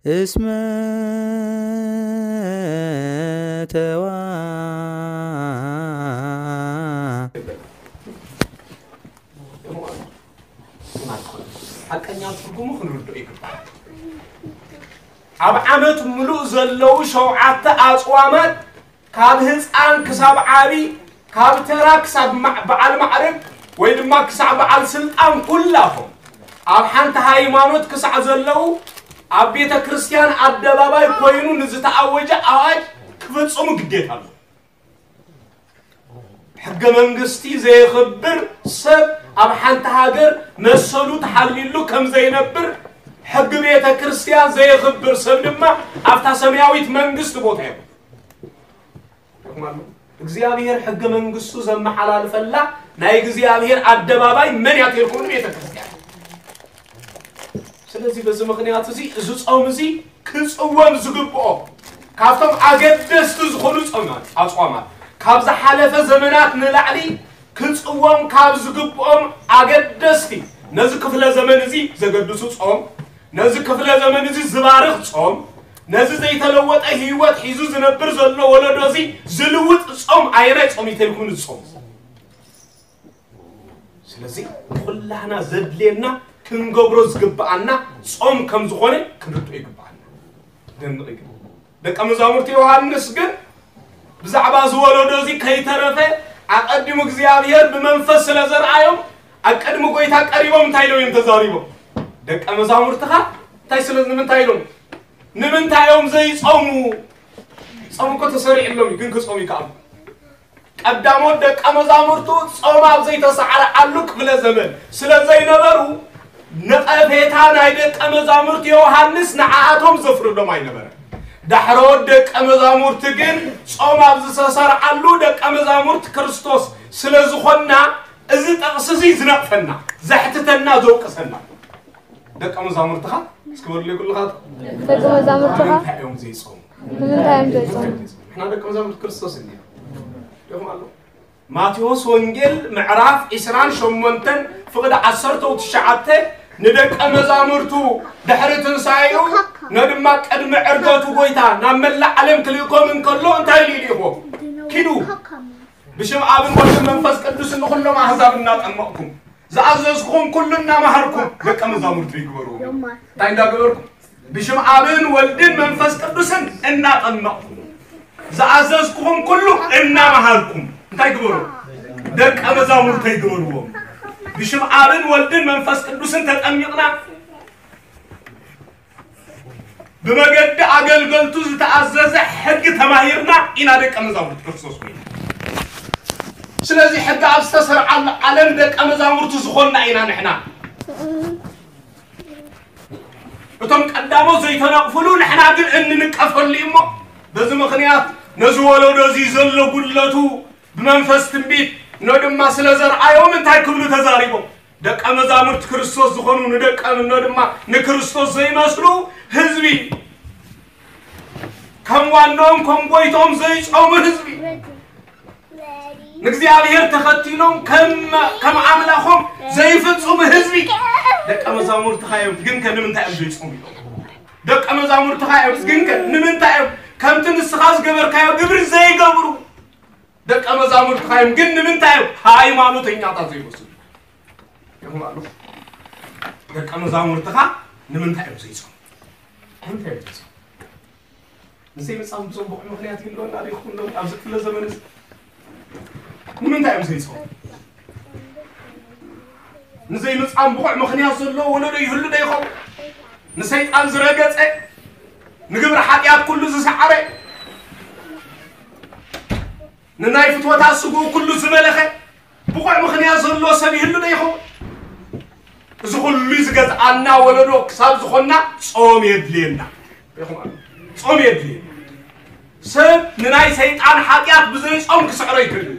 እስመ ተዋ ሓቀኛ ትርጉሙ ክንርድኦ ይግባእ። ኣብ ዓመት ምሉእ ዘለዉ ሸውዓተ ኣጽዋማት ካብ ህፃን ክሳብ ዓቢ፣ ካብ ተራ ክሳብ ማ- በዓል ማዕረግ ወይ ድማ ክሳብ በዓል ስልጣን ኩላቶም ኣብ ሓንቲ ሃይማኖት ክሳዕ ዘለዉ ኣብ ቤተ ክርስቲያን ኣደባባይ ኮይኑ ንዝተኣወጀ ኣዋጅ ክፍጽሙ ግዴታ ኣሎ። ሕገ መንግስቲ ዘየኽብር ሰብ ኣብ ሓንቲ ሃገር መሰሉ ተሓልይሉ ከም ዘይነብር፣ ሕጊ ቤተ ክርስቲያን ዘየኽብር ሰብ ድማ ኣብታ ሰማያዊት መንግስቲ ቦታ የብሉን። እግዚኣብሔር ሕገ መንግስቱ ዘመሓላልፈላ ናይ እግዚኣብሔር ኣደባባይ መን እያ ተልኩም? ቤተ ክርስቲያን። ስለዚ በዚ ምኽንያት እዚ፣ እዚ ጾም እዚ ክጽወም ዝግብኦ ካብቶም ኣገደስቲ ዝኾኑ ጾማት፣ ኣጽዋማት፣ ካብ ዝሓለፈ ዘመናት ንላዕሊ ክጽወም ካብ ዝግብኦም ኣገደስቲ፣ ነዚ ክፍለ ዘመን እዚ ዘገድሱ ጾም፣ ነዚ ክፍለ ዘመን እዚ ዝባርኽ ጾም፣ ነዚ ዘይተለወጠ ህይወት ሒዙ ዝነብር ዘሎ ወለዶ እዚ ዝልውጥ ጾም ኣየናይ ጾም እዩ ተልኩም? እዚ ጾም። ስለዚ ኩላህና ዘድልየና ክንገብሮ ዝግብኣና ጾም ከም ዝኾነ ክንርድኦ ይግብኣና። ደንቕ እዩ። ደቀ መዛሙርቲ ዮሃንስ ግን ብዛዕባ እዚ ወለዶ እዚ ከይተረፈ ኣቐዲሙ እግዚኣብሔር ብመንፈስ ስለ ዘርኣዮም ኣብ ቅድሚ ጎይታ ቀሪቦም እንታይ ኢሎም እዮም ተዛሪቦም? ደቀ መዛሙርትኻ እንታይ ስለ ንምንታይ ኢሎም? ንምንታይ እዮም ዘይጾሙ? ጾም እኮ ተሰሪዕሎም እዩ፣ ግን ክጾሙ ይከኣሉ። ቀዳሞት ደቀ መዛሙርቱ ጾም ኣብ ዘይተሳዕረዓሉ ክፍለ ዘመን ስለ ዘይነበሩ፣ ነቐፌታ ናይ ደቀ መዛሙርቲ ዮሃንስ ንዓኣቶም ዘፍርዶም ኣይነበረን። ዳሕሮት ደቀ መዛሙርቲ ግን ጾም ኣብ ዝተሰርዓሉ ደቀ መዛሙርቲ ክርስቶስ ስለ ዝኾንና፣ እዚ ጥቕሲ እዚ ዝነቕፈና፣ ዘሕትተና፣ ዘውቅሰና። ደቀ መዛሙርትኻ እስኪ በሉለይ ኩልኻትኩም። ደቀ መዛሙርትኻ እንታይ እዮም ዘይጾሙ? ንምንታይ እዮም ዘይጾሙ? ንሕና ደቀ መዛሙርቲ ክርስቶስ እንዲና። ዲኹም ኣለኹም? ማቴዎስ ወንጌል ምዕራፍ ዒስራን ሸሞንተን ፍቕዲ ዓሰርተው ትሽዓተ ንደቀ መዛሙርቱ ድሕሪ ትንሳኤኡ ነድማ ቅድሚ ዕርገቱ ጎይታ ናብ መላእ ዓለም ክልእኮም እንከሎ እንታይ ኢሉ ይልእኮም? ኪዱ ብሽም ኣብን ወልድን መንፈስ ቅዱስን ንኹሎም ኣህዛብ እናጠመቕኩም ዝኣዘዝኩኹም ኩሉ እናመሃርኩም ደቀ መዛሙርቱ ይግበርዎም። እንታይ እንዳገበርኩም? ብሽም ኣብን ወልድን መንፈስ ቅዱስን እናጠመቕኩም ዝኣዘዝኩኹም ኩሉ እናመሃርኩም እንታይ ግበሩ? ደቀ መዛሙርተይ ግበርዎም። ብሽም ኣብን ወልድን መንፈስ ቅዱስን ተጠሚቕና ብመገዲ ኣገልገልቱ ዝተኣዘዘ ሕጊ ተማሂርና ኢና ደቀ መዛሙርት ክርስቶስ ኮይና። ስለዚ ሕጊ ኣብ ዝተሰርዓሉ ዓለም ደቀ መዛሙርቱ ዝኾንና ኢና ንሕና። እቶም ቀዳሞት ዘይተነቕፍሉ ንሕና ግን እንንቀፈሉ እዩ እሞ፣ በዚ ምኽንያት ነዚ ወለዶ እዚ ዘሎ ጉድለቱ ብመንፈስ ትንቢት ኖ ድማ ስለ ዘርኣዮም እንታይ ክብሉ ተዛሪቦም? ደቀ መዛሙርት ክርስቶስ ዝኾኑ ንደቀ ኖ ድማ ንክርስቶስ ዘይመስሉ ህዝቢ፣ ከም ዋናኦም ከም ጎይቶም ዘይጾሙ ህዝቢ፣ ንእግዚኣብሔር ተኸቲሎም ከም ከም ኣምላኾም ዘይፍጽሙ ህዝቢ ደቀ መዛሙርትኻ እዮም። ግን ከ ንምንታይ እዮም ዘይጾሙ ኢሎም? ደቀ መዛሙርትኻ እዮም። ግን ከ ንምንታይ እዮም ከምቲ ንስኻ ዝገበርካዮ ግብሪ ዘይገብሩ? ደቀ መዛሙርትኻ እዮም። ግን ንምንታይ እዮም ሃይማኖተኛታት ዘይመስሉ? ይኹም ኣሎ። ደቀ መዛሙርትኻ ንምንታይ እዮም ዘይጾሙ? ንምንታይ እዮም ዘይጾሙ? ንዘይምጻም ብጽቡቕ ምኽንያት ይህልወና ዶ ይኸውን ዶ? ኣብዚ ክፍለ ዘመን እዚ ንምንታይ እዮም ዘይጾሙ? ንዘይምጻም ብቑዕ ምኽንያት ዘለዎ ወለዶ ይህሉ ዶ ይኸውን? ንሰይጣን ዝረገጸ፣ ንግብሪ ሓጢኣት ኩሉ ዝሰዓረ፣ ንናይ ፍትወታት ስግኡ ኩሉ ዝመለኸ ብቑዕ ምኽንያት ዘለዎ ሰብ ይህሉ ዶ ይኸውን? እዚ ኩሉ ዝገዝኣና ወለዶ ክሳብ ዝኾንና ጾም የድልየና። ጾም የድልየና። ሰብ ንናይ ሰይጣን ሓጢኣት ብዘይ ጾም ክስዕሮ ይክእል እዩ።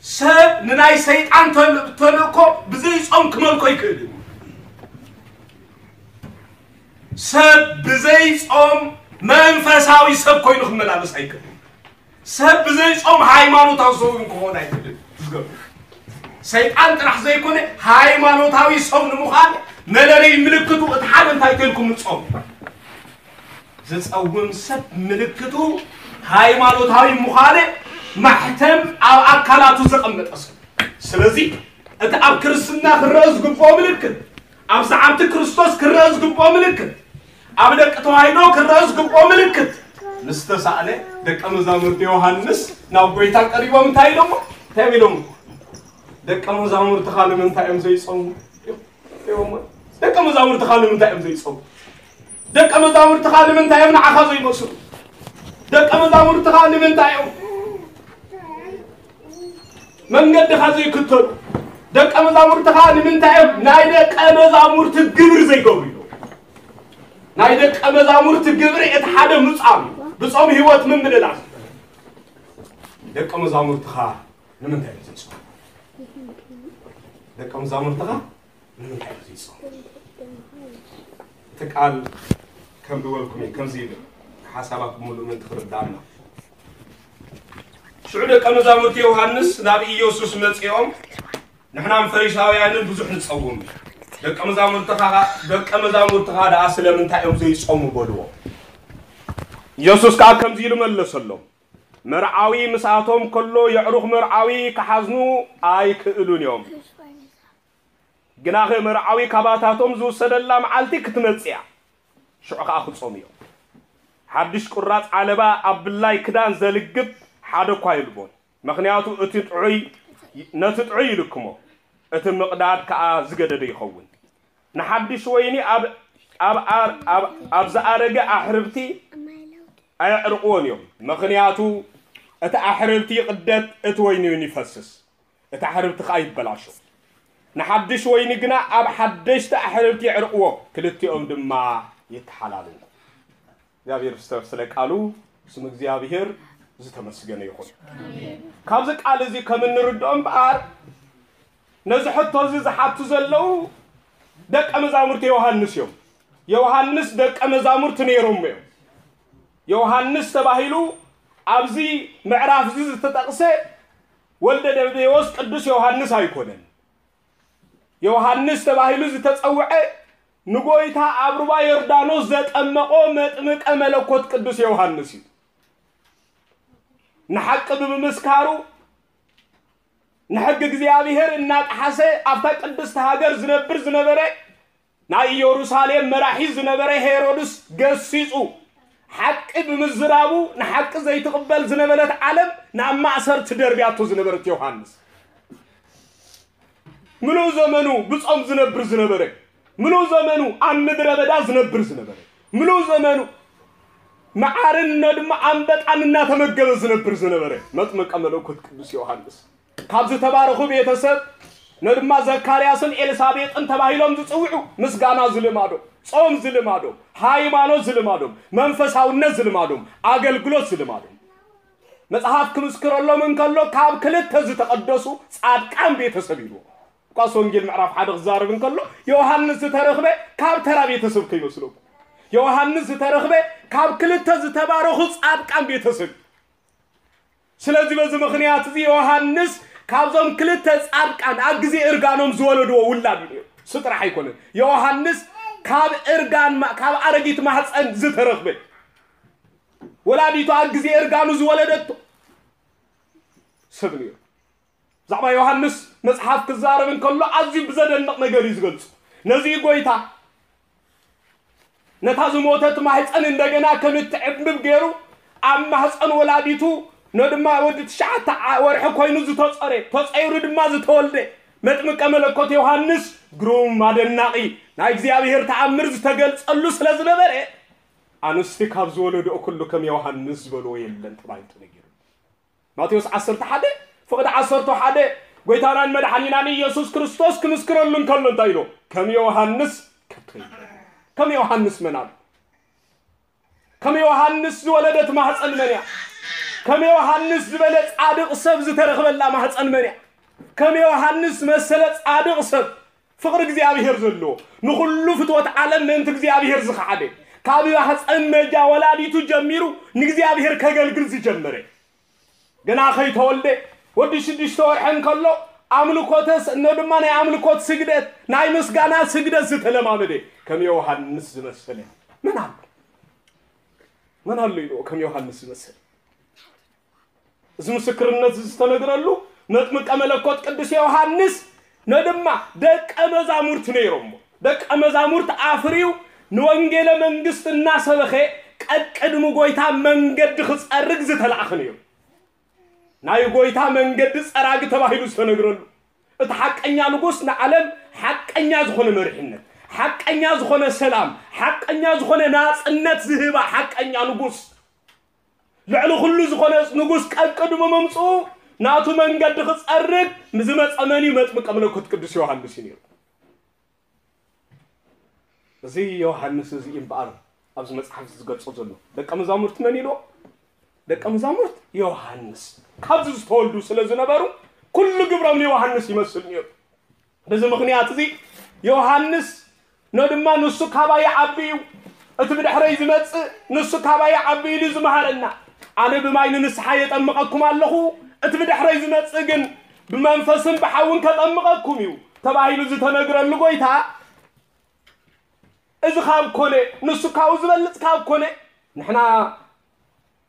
ሰብ ንናይ ሰይጣን ተል- ተልእኮ ብዘይ ጾም ክመልኮ ይክእል እዩ። ሰብ ብዘይ ጾም መንፈሳዊ ሰብ ኮይኑ ክመላለስ ኣይክእልን። ሰብ ብዘይ ጾም ሃይማኖታዊ ሰብ እውን ክኾን ኣይክእልን። ዝገርም። ሰይጣን ጥራሕ ዘይኮነ ሃይማኖታዊ ሰብ ንምዃን መለለይ ምልክቱ እቲ ሓደ እንታይ ተልኩም ጾም። ዝጸውም ሰብ ምልክቱ ሃይማኖታዊ ምዃነ ማሕተም ኣብ ኣካላቱ ዘቐመጠ ሰብ። ስለዚ እቲ ኣብ ክርስትና ክረአ ዝግብኦ ምልክት፣ ኣብ ሰዓብቲ ክርስቶስ ክረአ ዝግብኦ ምልክት፣ ኣብ ደቂ ተዋሕዶ ክረአ ዝግብኦ ምልክት ምስ ተሳእነ፣ ደቀ መዛሙርቲ ዮሃንስ ናብ ጎይታ ቀሪቦም እንታይ ኢሎሞ? እንታይ ኢሎሞ? ደቀ መዛሙርትኻ ንምንታይ እዮም ዘይጾሙ? ኢሎሞ። ደቀ መዛሙርትኻ ንምንታይ እዮም ዘይጾሙ? ደቀ መዛሙርትኻ ንምንታይ እዮም ንዓኻ ዘይመስሉ? ደቀ መዛሙርትኻ ንምንታይ እዮም መንገድኻ ዘይክተሉ? ደቀ መዛሙርትኻ ንምንታይ እዮም ናይ ደቀ መዛሙርቲ ግብሪ ዘይገብሩ? ኢሎሞ። ናይ ደቀ መዛሙርቲ ግብሪ እቲ ሓደ ምጻም እዩ። ብጾም ህይወት ምምልላስ። ደቀ መዛሙርትኻ ንምንታይ እዮም ዘይጾሙ? ደቀ መዛሙርትኻ ንምንታይ እዮም ዘይጾሙ? እቲ ቃል ከም ዝበልኩም እዩ፣ ከምዚ ይብል፣ ሓሳባት ብምሉእ ምእንቲ ክርዳእና። ሽዑ ደቀ መዛሙርቲ ዮሃንስ ናብ ኢየሱስ መጺኦም፣ ንሕናን ፈሪሳውያንን ብዙሕ ንጸውም፣ ደቀ መዛሙርትኻ፣ ደቀ መዛሙርትኻ ደኣ ስለምንታይ እዮም ዘይጾሙ? በልዎ። ኢየሱስ ከኣ ከምዚ ኢሉ መለሰሎም፣ መርዓዊ ምስኣቶም ከሎ የዕሩኽ መርዓዊ ክሓዝኑ ኣይክእሉን እዮም። ግናኸ መርዓዊ ካባታቶም ዝውሰደላ መዓልቲ ክትመጽእ እያ፣ ሽዑ ኸኣ ክጾሙ እዮም። ሓድሽ ቁራጽ ዓለባ ኣብ ብላይ ክዳን ዘልግብ ሓደ እኳ የልቦን። ምኽንያቱ እቲ ጥዑይ ነቲ ጥዑይ ይልክሞ፣ እቲ ምቕዳድ ከኣ ዝገደደ ይኸውን። ንሓድሽ ወይኒ ኣብ ኣብ ኣር- ኣብ ኣብ ዝኣረገ ኣሕርብቲ ኣየዕርቕዎን እዮም። ምኽንያቱ እቲ ኣሕርብቲ ይቕደድ፣ እቲ ወይኒ እውን ይፈስስ፣ እቲ ኣሕርብቲ ከኣ ይበላሾ። ንሓድሽ ወይኒ ግና ኣብ ሓደሽቲ ኣሕርብቲ የዕርቕዎ፣ ክልቲኦም ድማ ይተሓላለዉ። እግዚኣብሔር ስለ ቃሉ ስም እግዚኣብሔር ዝተመስገነ ይኹን። ካብዚ ቃል እዚ ከም እንርድኦ እምበኣር ነዚ ሕቶ እዚ ዝሓቱ ዘለዉ ደቀ መዛሙርቲ ዮሃንስ እዮም። ዮሃንስ ደቀ መዛሙርቲ ነይሮም እዮም። ዮሃንስ ተባሂሉ ኣብዚ ምዕራፍ እዚ ዝተጠቕሰ ወልደ ዘብዴዎስ ቅዱስ ዮሃንስ ኣይኮነን። ዮሃንስ ተባሂሉ ዝተጸውዐ ንጎይታ ኣብ ሩባ ዮርዳኖስ ዘጠመቖ መጥምቀ መለኮት ቅዱስ ዮሃንስ እዩ። ንሓቂ ብምምስካሩ ንሕጊ እግዚኣብሔር እናጠሓሰ ኣብታ ቅድስቲ ሃገር ዝነብር ዝነበረ ናይ ኢየሩሳሌም መራሒ ዝነበረ ሄሮድስ ገሲጹ ሓቂ ብምዝራቡ ንሓቂ ዘይትቕበል ዝነበረት ዓለም ናብ ማእሰርቲ ደርብያቶ ዝነበረት ዮሃንስ ምሉእ ዘመኑ ብጾም ዝነብር ዝነበረ ምሉእ ዘመኑ ኣብ ምድረ በዳ ዝነብር ዝነበረ ምሉእ ዘመኑ መዓርን ድማ ኣንበጣን እናተመገበ ዝነብር ዝነበረ መጥምቀ መለኮት ቅዱስ ዮሃንስ ካብ ዝተባረኹ ቤተሰብ ነድማ ዘካርያስን ኤልሳቤጥን ተባሂሎም ዝጽውዑ ምስጋና ዝልማዶም፣ ጾም ዝልማዶም፣ ሃይማኖት ዝልማዶም፣ መንፈሳውነት ዝልማዶም፣ ኣገልግሎት ዝልማዶም መጽሓፍ ክምስክረሎም እንከሎ ካብ ክልተ ዝተቐደሱ ጻድቃን ቤተሰብ ኢልዎ። ሉቃስ ወንጌል ምዕራፍ ሓደ ክዛረብ እንከሎ ዮሃንስ ዝተረኽበ ካብ ተራ ቤተሰብ ከይመስለኩም። ዮሃንስ ዝተረኽበ ካብ ክልተ ዝተባረኹ ጻድቃን ቤተሰብ እዩ። ስለዚ በዚ ምኽንያት እዚ ዮሃንስ ካብዞም ክልተ ጻድቃን ኣብ ግዜ እርጋኖም ዝወለድዎ ውላድ እዩ ነይሩ። እሱ ጥራሕ ኣይኮነን። ዮሃንስ ካብ እርጋን ማ- ካብ ኣረጊት ማህፀን ዝተረኽበ ወላዲቱ ኣብ ግዜ እርጋኑ ዝወለደቶ ሰብ ነይሩ። ብዛዕባ ዮሃንስ መጽሓፍ ክዛረብ እንከሎ ኣዝዩ ብዘደንቕ ነገር እዩ ዝገልጹ። ነዚ ጎይታ ነታ ዝሞተት ማህፀን እንደገና ከም እትዕብብ ገይሩ ኣብ ማህፀን ወላዲቱ ነድማ ወዲ ትሽዓተ ዓ- ወርሒ ኮይኑ ዝተጸረ ተጸይሩ ድማ ዝተወልደ መጥምቀ መለኮት ዮሃንስ ግሩም ኣደናቒ ናይ እግዚኣብሔር ተኣምር ዝተገልጸሉ ስለ ዝነበረ ኣንስቲ ካብ ዝወለድኦ ኩሉ ከም ዮሃንስ ዝበልዎ የለን ተባሂሉ ተነጊሩ። ማቴዎስ ዓሰርተ ሓደ ፍቕዲ ዓሰርተ ሓደ ጎይታናን መድሓኒናን ኢየሱስ ክርስቶስ ክምስክረሉ እንከሎ እንታይ ኢሎ? ከም ዮሃንስ ከቶ የለን። ከም ዮሃንስ መን ኣሎ? ከም ዮሃንስ ዝወለደት ማህፀን መን እያ? ከም ዮሃንስ ዝበለ ጻድቕ ሰብ ዝተረኽበላ ማህፀን መን እያ? ከም ዮሃንስ መሰለ ጻድቕ ሰብ ፍቕሪ እግዚኣብሔር ዘለዎ ንኹሉ ፍትወት ዓለም ምእንቲ እግዚኣብሔር ዝኸሓደ ካብ ማህፀን መጃ ወላዲቱ ጀሚሩ ንእግዚኣብሔር ከገልግል ዝጀመረ ገና ከይተወልደ ወዲ ሽዱሽተ ወርሒ እንከሎ ኣምልኮተ ስ- እኖ ድማ ናይ ኣምልኮት ስግደት ናይ ምስጋና ስግደት ዝተለማመደ ከም ዮሃንስ ዝመሰለ መን ኣሎ? መን ኣሎ ኢልዎ ከም ዮሃንስ ዝመስል? እዚ ምስክርነት ዝተነግረሉ መጥምቀ መለኮት ቅዱስ ዮሃንስ ነድማ ደቀ መዛሙርቲ ነይሮሞ። ደቀ መዛሙርቲ ኣፍርዩ ንወንጌለ መንግስት እናሰበኸ ቀቅድሚ ጎይታ መንገዲ ክጸርግ ዝተላእኸ ነይሩ። ናይ ጎይታ መንገዲ ጸራጊ ተባሂሉ ዝተነግረሉ፣ እቲ ሓቀኛ ንጉስ ንዓለም ሓቀኛ ዝኾነ መሪሕነት፣ ሓቀኛ ዝኾነ ሰላም፣ ሓቀኛ ዝኾነ ናጽነት ዝህባ ሓቀኛ ንጉስ፣ ልዕሊ ኩሉ ዝኾነ ንጉስ ቀቅድሚ ምምጽኡ ናቱ መንገዲ ክጸርግ ዝመጸ መን እዩ? መጥምቀ መለኮት ቅዱስ ዮሃንስ እዩ ነይሩ። እዚ ዮሃንስ እዚ እምበኣር ኣብዚ መጽሓፍ እዚ ዝገልጾ ዘሎ ደቀ መዛሙርቲ መን ኢልዎ? ደቀ መዛሙርት ዮሃንስ ካብዚ ዝተወልዱ ስለ ዝነበሩ ኩሉ ግብሮም ንዮሃንስ ይመስል ነይሩ። በዚ ምኽንያት እዚ ዮሃንስ ኖ ድማ ንሱ ካባይ ይዓቢ እዩ፣ እቲ ብድሕረይ ዝመጽእ ንሱ ካባይ ይዓቢ ኢሉ ዝመሃረና። ኣነ ብማይ ንንስሓ የጠምቐኩም ኣለኹ፣ እቲ ብድሕረይ ዝመጽእ ግን ብመንፈስን ብሓውን ከጠምቐኩም እዩ ተባሂሉ ዝተነግረሉ ጎይታ እዚ ካብ ኮነ፣ ንሱ ካብኡ ዝበልጽ ካብ ኮነ፣ ንሕና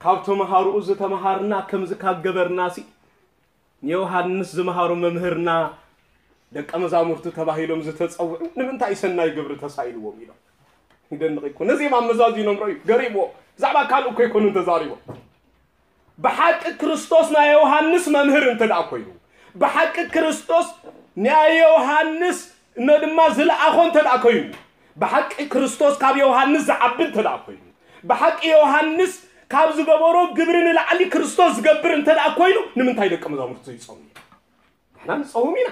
ካብ ተምሃሮኡ ዝተምሃርና ከምዚ ካብ ገበርናሲ፣ ንዮሃንስ ዝመሃሮ መምህርና ደቀ መዛሙርቱ ተባሂሎም ዝተጸውዑ ንምንታይ ሰናይ ግብሪ ተሳኢልዎም ኢሎም። ይደንቕ እኮ። ነዚኦም ኣመዛዚኖም ረዩ፣ ገሪምዎ። ብዛዕባ ካልእ እኮ ኣይኮኑን ተዛሪቦም። ብሓቂ ክርስቶስ ናይ ዮሃንስ መምህር እንተ ደኣ ኮይኑ፣ ብሓቂ ክርስቶስ ናይ ዮሃንስ እነ ድማ ዝለኣኾ እንተ ደኣ ኮይኑ፣ ብሓቂ ክርስቶስ ካብ ዮሃንስ ዝዓቢ እንተ ደኣ ኮይኑ፣ ብሓቂ ዮሃንስ ካብ ዝገበሮ ግብሪ ንላዕሊ ክርስቶስ ዝገብር እንተ ደኣ ኮይኑ፣ ንምንታይ ደቀ መዛሙርቱ ዘይጸሙ? ንሕና ንጸውም ኢና።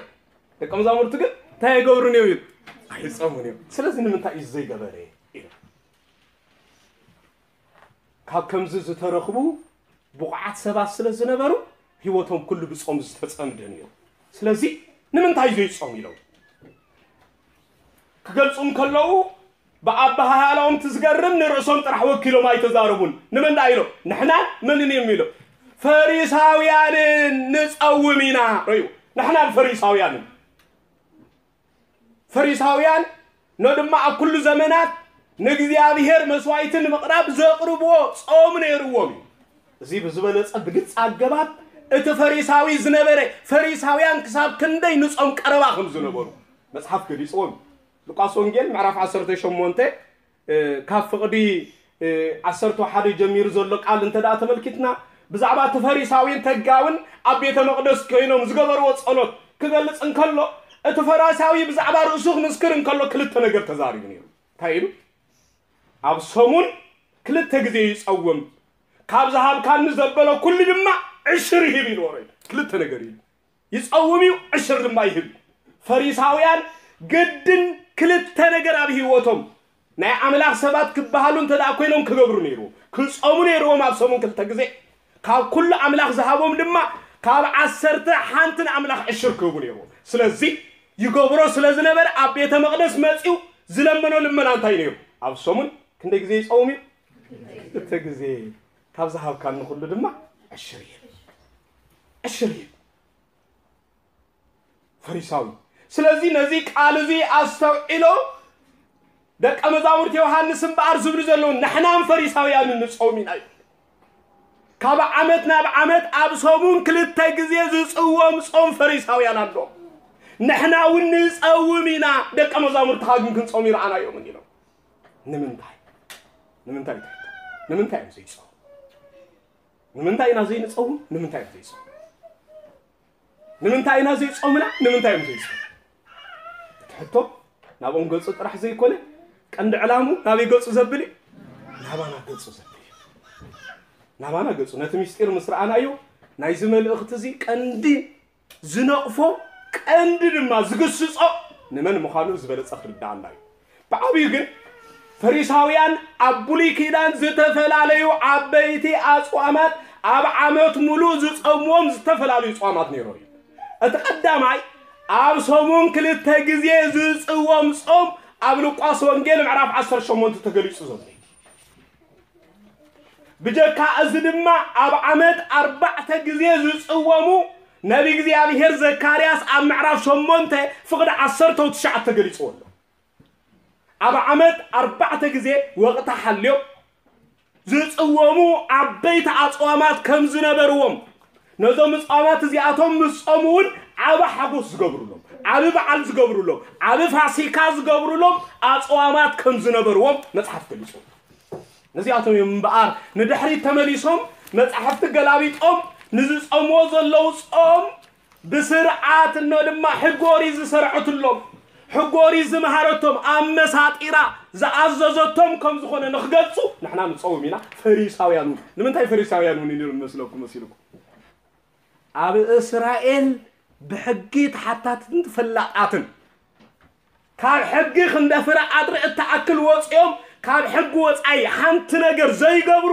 ደቀ መዛሙርቱ ግን እንታይ ኣይገብሩን እዮም ኢሉ? ኣይጸሙን እዮም። ስለዚ ንምንታይ እዩ ዘይገበረ? ኢሉ። ካብ ከምዚ ዝተረኽቡ ብቑዓት ሰባት ስለ ዝነበሩ፣ ህይወቶም ኩሉ ብጾም ዝተጸምደ ነይሩ። ስለዚ ንምንታይ ዘይጾም ኢሎም ክገልጹ እንከለዉ፣ ብኣበሃህላኦም እቲ ዝገርም ንርእሶም ጥራሕ ወኪሎም ኣይተዛረቡን። ንመን ደኣ ኢሎም? ንሕናን መንን እዮም ኢሎም? ፈሪሳውያንን ንጸውም ኢና። ረዩ፣ ንሕናን ፈሪሳውያንን። ፈሪሳውያን ኖ ድማ ኣብ ኩሉ ዘመናት ንእግዚኣብሔር መስዋዕቲ ንምቕራብ ዘቕርብዎ ጾም ነይርዎም እዩ። እዚ ብዝበለጸ ብግልጺ ኣገባብ እቲ ፈሪሳዊ ዝነበረ፣ ፈሪሳውያን ክሳብ ክንደይ ንጾም ቀረባ ከም ዝነበሩ መጽሓፍ ገሊጽዎም እዩ። ሉቃስ ወንጌል ምዕራፍ ዓሰርተ ሸሞንተ፣ እ፣ ካብ ፍቕዲ፣ እ፣ ዓሰርተ ሓደ ጀሚሩ ዘሎ ቃል እንተ ደኣ ተመልኪትና፣ ብዛዕባ እቲ ፈሪሳዊን ተጋውን ኣብ ቤተ መቕደስ ኮይኖም ዝገበርዎ ጸሎት ክገልጽ እንከሎ፣ እቲ ፈሪሳዊ ብዛዕባ ርእሱ ክምስክር እንከሎ ክልተ ነገር ተዛሪቡ ነይሩ። እንታይ ኢሉ? ኣብ ሰሙን ክልተ ግዜ ይጸውም፣ ካብ ዝሃብካኒ ዘበለ ኩሉ ድማ ዕሽር ይህብ ኢልዎ። ክልተ ነገር ኢሉ። ይጸውም እዩ፣ ዕሽር ድማ ይህብ። ፈሪሳውያን ግድን ክልተ ነገር ኣብ ህይወቶም ናይ ኣምላኽ ሰባት ክበሃሉ እንተ ደኣ ኮይኖም ክገብሩ ነይርዎም። ክጸሙ ነይርዎም ኣብ ሰሙን ክልተ ግዜ። ካብ ኩሉ ኣምላኽ ዝሃቦም ድማ ካብ ዓሰርተ ሓንቲ ንኣምላኽ ዕሽር ክህቡ ነይርዎም። ስለዚ ይገብሮ ስለ ዝነበረ ኣብ ቤተ መቕደስ መጺኡ ዝለመኖ ልመና እንታይ ነይሩ? ኣብ ሰሙን ክንደይ ግዜ ይጸውም እዩ? ክልተ ግዜ። ካብ ዝሃብካኒ ኩሉ ድማ ዕሽር ይህብ። ዕሽር ይህብ። ፈሪሳዊ። ስለዚ ነዚ ቃል እዚ ኣስተውዒሎ ደቀ መዛሙርቲ ዮሃንስ እምበኣር ዝብሉ ዘለዉ ንሕናን ፈሪሳውያንን ንጸውም ኢና እዩ። ካብ ዓመት ናብ ዓመት ኣብ ሰሙን ክልተ ግዜ ዝጽወም ጾም ፈሪሳውያን ኣሎ። ንሕና እውን ንጸውም ኢና፣ ደቀ መዛሙርትኻ ግን ክንጾም ይረኣናዮምን ኢሎም። ንምንታይ? ንምንታይ ትሕቶ? ንምንታይ እዮም ዘይጸሙ? ንምንታይ ኢና ዘይንጸውም? ንምንታይ እዮም ዘይጸሙ? ንምንታይ ኢና ዘይጾምና? ንምንታይ እዮም ዘይጾሙ? እቲ ሕቶ ናብኦም ገጹ ጥራሕ ዘይኮነ፣ ቀንዲ ዕላሙ ናበይ ገጹ ዘብል እዩ? ናባና ገጹ ዘብል እዩ። ናባና ገጹ። ነቲ ምስጢር ምስ ረኣናዮ፣ ናይዚ መልእኽቲ እዚ ቀንዲ ዝነቕፎ፣ ቀንዲ ድማ ዝግስጾ ንመን ምዃኑ ዝበለጸ ክርድኣና እዩ። ብዓብዩ ግን ፈሪሳውያን ኣብ ብሉይ ኪዳን ዝተፈላለዩ ዓበይቲ ኣጽዋማት ኣብ ዓመት ሙሉእ ዝጸምዎም ዝተፈላለዩ ጸዋማት ነይሮም እዩ። እቲ ቀዳማይ ኣብ ሰሙን ክልተ ግዜ ዝጽወም ጾም ኣብ ሉቃስ ወንጌል ምዕራፍ ዓሰርተ ሸሞንተ ተገሊጹ ዘሎ እዩ። ብጀካ እዚ ድማ ኣብ ዓመት ኣርባዕተ ግዜ ዝጽወሙ ነቢ እግዚኣብሔር ዘካርያስ ኣብ ምዕራፍ ሸሞንተ ፍቕዲ ዓሰርተ ትሽዓተ ተገሊጽዎ ኣሎ። ኣብ ዓመት ኣርባዕተ ግዜ ወቕቲ ሓልዮም ዝጽወሙ ዓበይቲ ኣጽዋማት ከም ዝነበርዎም፣ ነዞም ጻማት እዚኣቶም ምስ ጾሙ እውን ዓቢ ሓጎስ ዝገብሩሎም፣ ዓቢ በዓል ዝገብሩሎም፣ ዓቢ ፋሲካ ዝገብሩሎም ኣጽዋማት ከም ዝነበርዎም መጽሓፍ ገሊጹ። ነዚኣቶም እዮም እምበኣር ንድሕሪት ተመሊሶም መጻሕፍቲ ገላቢጦም ንዝጾምዎ ዘለዉ ጾም ብስርዓት እኖ ድማ ሕጊ ኦሪት ዝሰርዐትሎም፣ ሕጊ ኦሪት ዝመሃረቶም፣ ኣመሳጢራ ዝኣዘዘቶም ከም ዝኾነ ንኽገልጹ ንሕና ንጸውም ኢና። ፈሪሳውያን እውን ንምንታይ ፈሪሳውያን እውን ኢሉ መስለኩም መሲልኩም? ኣብ እስራኤል ብሕጊ ተሓታትትን ፈላጣትን፣ ካብ ሕጊ ክንደ ፍረ ኣድሪ እትኣክል ወፂኦም፣ ካብ ሕጊ ወፃኢ ሓንቲ ነገር ዘይገብሩ፣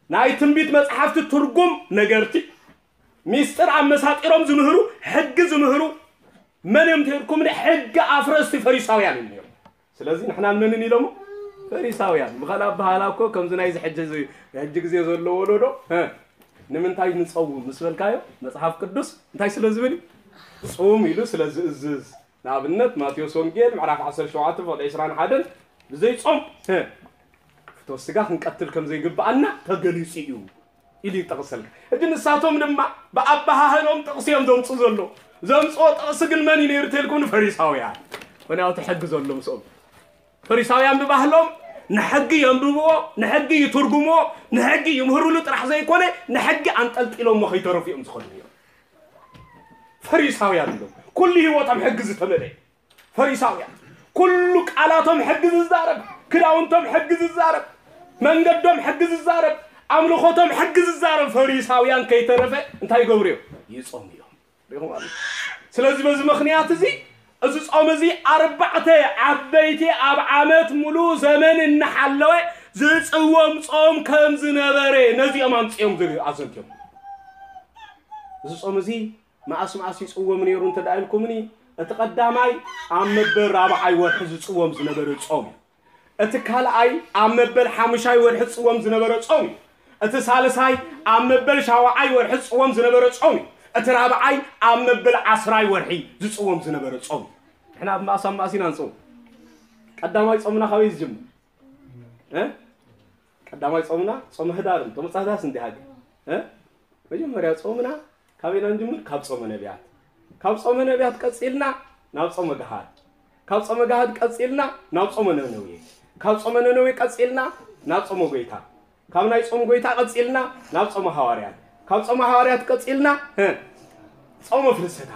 ናይ ትንቢት መፅሓፍቲ ትርጉም ነገርቲ፣ ሚስጥር ኣመሳጢሮም ዝምህሩ፣ ሕጊ ዝምህሩ፣ መን እዮም ተልኩም? ሕጊ ኣፍረስቲ ፈሪሳውያን እዮም ነይሮም። ስለዚ ንሕና መንን ኢሎሞ? ፈሪሳውያን። ብኻልእ ኣበሃህላ እኮ ከምዚ ናይዚ ሕጂ እዚ፣ ሕጂ ግዜ ዘሎ ወለዶ፣ እ፣ ንምንታይ ንጸውም ምስ በልካዮ፣ መጽሓፍ ቅዱስ እንታይ ስለ ዝብል እዩ? ጹም ኢሉ ስለ ዝእዝዝ። ንኣብነት ማቴዎስ ወንጌል ምዕራፍ ዓሰርተ ሸውዓተ ፍቕዲ ዕስራን ሓደን ብዘይ ጾም፣ እ፣ ፍትወት ስጋ ክንቀትል ከም ዘይግብኣና ተገሊጹ እዩ ኢሉ ይጠቕሰልና። ሕጂ ንሳቶም ድማ ብኣበሃህሎም ጥቕሲ እዮም ዘምጽኡ ዘሎ። ዘምጽኦ ጥቕሲ ግን መን እዩ ነይሩ ተልኩም? ንፈሪሳውያን። ምኽንያቱ ሕጊ ዘሎ ምስኦም። ፈሪሳውያን ብባህሎም ንሕጊ የንብብዎ፣ ንሕጊ ይትርጉምዎ፣ ንሕጊ ይምህርሉ ጥራሕ ዘይኮነ ንሕጊ ኣንጠልጢሎሞ ከይተረፉ እዮም ዝኸዱ ነይሮም። ፈሪሳውያን እዮም። ኩሉ ህይወቶም ሕጊ ዝተመልአ። ፈሪሳውያን ኩሉ ቃላቶም ሕጊ ዝዛረብ፣ ክዳውንቶም ሕጊ ዝዛረብ፣ መንገዶም ሕጊ ዝዛረብ፣ ኣምልኾቶም ሕጊ ዝዛረብ ፈሪሳውያን ከይተረፈ እንታይ ይገብሩ እዮም? ይጾሙ እዮም። ሪኹም ኣሎ። ስለዚ በዚ ምኽንያት እዚ፣ እዚ ጾም እዚ ኣርባዕተ ዓበይቲ ኣብ ዓመት ሙሉ ዘመን እናሓለወ ዝጽወም ጾም ከም ዝነበረ ነዚኦም ኣምጽኦም ዝግ-፣ ኣዘንትዮም። እዚ ጾም እዚ መኣስ መኣስ ይጽወም ነይሩ እንተ ደኣ ኢልኩምኒ፣ እቲ ቀዳማይ ኣብ መበል ራብዓይ ወርሒ ዝጽወም ዝነበረ ጾም እዩ። እቲ ካልኣይ ኣብ መበል ሓሙሻይ ወርሒ ዝጽወም ዝነበረ ጾም እዩ። እቲ ሳልሳይ ኣብ መበል ሻውዓይ ወርሒ ዝጽወም ዝነበረ ጾም እዩ። እቲ ራብዓይ ኣብ መበል ዓስራይ ወርሒ ዝጽወም ዝነበረ ጾም እዩ። ንሕና ኣብ መኣስ ኣብ መኣስ ኢና ንጽውም። ቀዳማይ ጾምና ካበይ ዝጅምር? እ? ቀዳማይ ጾምና ጾመ ህዳር፣ ጾመ ጻህዳስ እንዲሃገ። እ? መጀመርያ ጾምና ካበይና ንጅምር? ካብ ጾመ ነቢያት። ካብ ጾመ ነቢያት ቀጺልና ናብ ጾመ ገሃድ። ካብ ጾመ ገሃድ ቀጺልና ናብ ጾመ ነነዌ። ካብ ጾመ ነነዌ ቀጺልና ናብ ጾመ ጎይታ። ካብ ናይ ጾም ጎይታ ቀጺልና ናብ ጾመ ሃዋርያት። ካብ ጾመ ሃዋርያት ቀጺልና፣ እ፣ ጾመ ፍልሰታ።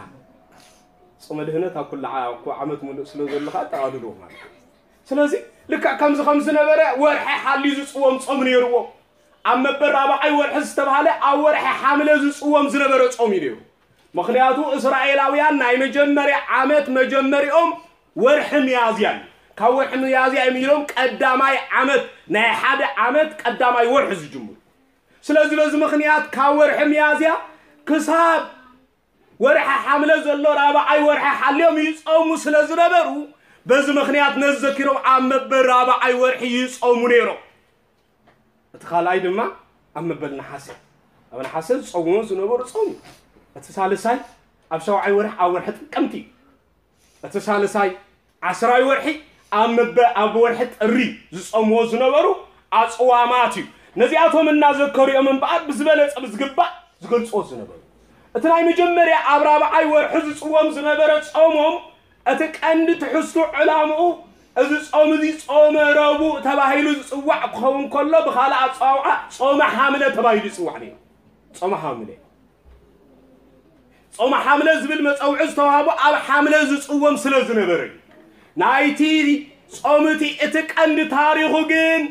ጾመ ድህነት ኣብ ኩሉ ዓ-፣ እኮ ዓመት ሙሉእ ስለ ዘሎ ከኣ ኣጠቓልልዎ ማለት እዩ። ስለዚ ልክዕ ከምዚ ከም ዝነበረ ወርሒ ሓልዩ ዝጽወም ጾም ነይርዎ። ኣብ መበል ራብዓይ ወርሒ ዝተባህለ ኣብ ወርሒ ሓምለ ዝጽወም ዝነበረ ጾም እዩ ነይሩ። ምኽንያቱ እስራኤላውያን ናይ መጀመርያ ዓመት መጀመሪኦም ወርሒ ሚያዝያ እዩ። ካብ ወርሒ ሚያዝያ እዮም ኢሎም ቀዳማይ ዓመት፣ ናይ ሓደ ዓመት ቀዳማይ ወርሒ ዝጅምሩ። ስለዚ በዚ ምኽንያት ካብ ወርሒ ሚያዝያ ክሳብ ወርሒ ሓምለ ዘሎ ራብዓይ ወርሒ ሓልዮም ይጾሙ ስለ ዝነበሩ፣ በዚ ምኽንያት ነዚ ዘኪሮም ኣብ መበል ራብዓይ ወርሒ ይጾሙ ነይሮም። እቲ ካልኣይ ድማ ኣብ መበል ነሓሰ፣ ኣብ ነሓሰ ዝጾምዎ ዝነበሩ ጾም እዩ። እቲ ሳልሳይ ኣብ ሻውዓይ ወርሒ ኣብ ወርሒ ጥቅምቲ እዩ። እቲ ሳልሳይ ዓስራይ ወርሒ ኣብ መበ-፣ ኣብ ወርሒ ጥሪ ዝጾምዎ ዝነበሩ ኣጽዋማት እዩ። ነዚኣቶም እናዘከሩ እዮም እምበኣር ብዝበለጸ ብዝግባእ ዝገልጽዎ ዝነበሩ። እቲ ናይ መጀመርያ ኣብ ራብዓይ ወርሒ ዝጽወም ዝነበረ ጾሞም፣ እቲ ቀንዲ ትሕዝቱ ዕላምኡ፣ እዚ ጾም እዚ ጾመ ረቡዕ ተባሂሉ ዝጽዋዕ ክኸውን ከሎ፣ ብኻልእ ኣጸዋውዓ ጾመ ሓምለ ተባሂሉ ይጽዋዕ ነይሩ። ጾመ ሓምለ። ጾመ ሓምለ ዝብል መጸውዒ ዝተዋህቦ ኣብ ሓምለ ዝጽወም ስለ ዝነበረ እዩ። ናይቲ ጾም እቲ፣ እቲ ቀንዲ ታሪኹ ግን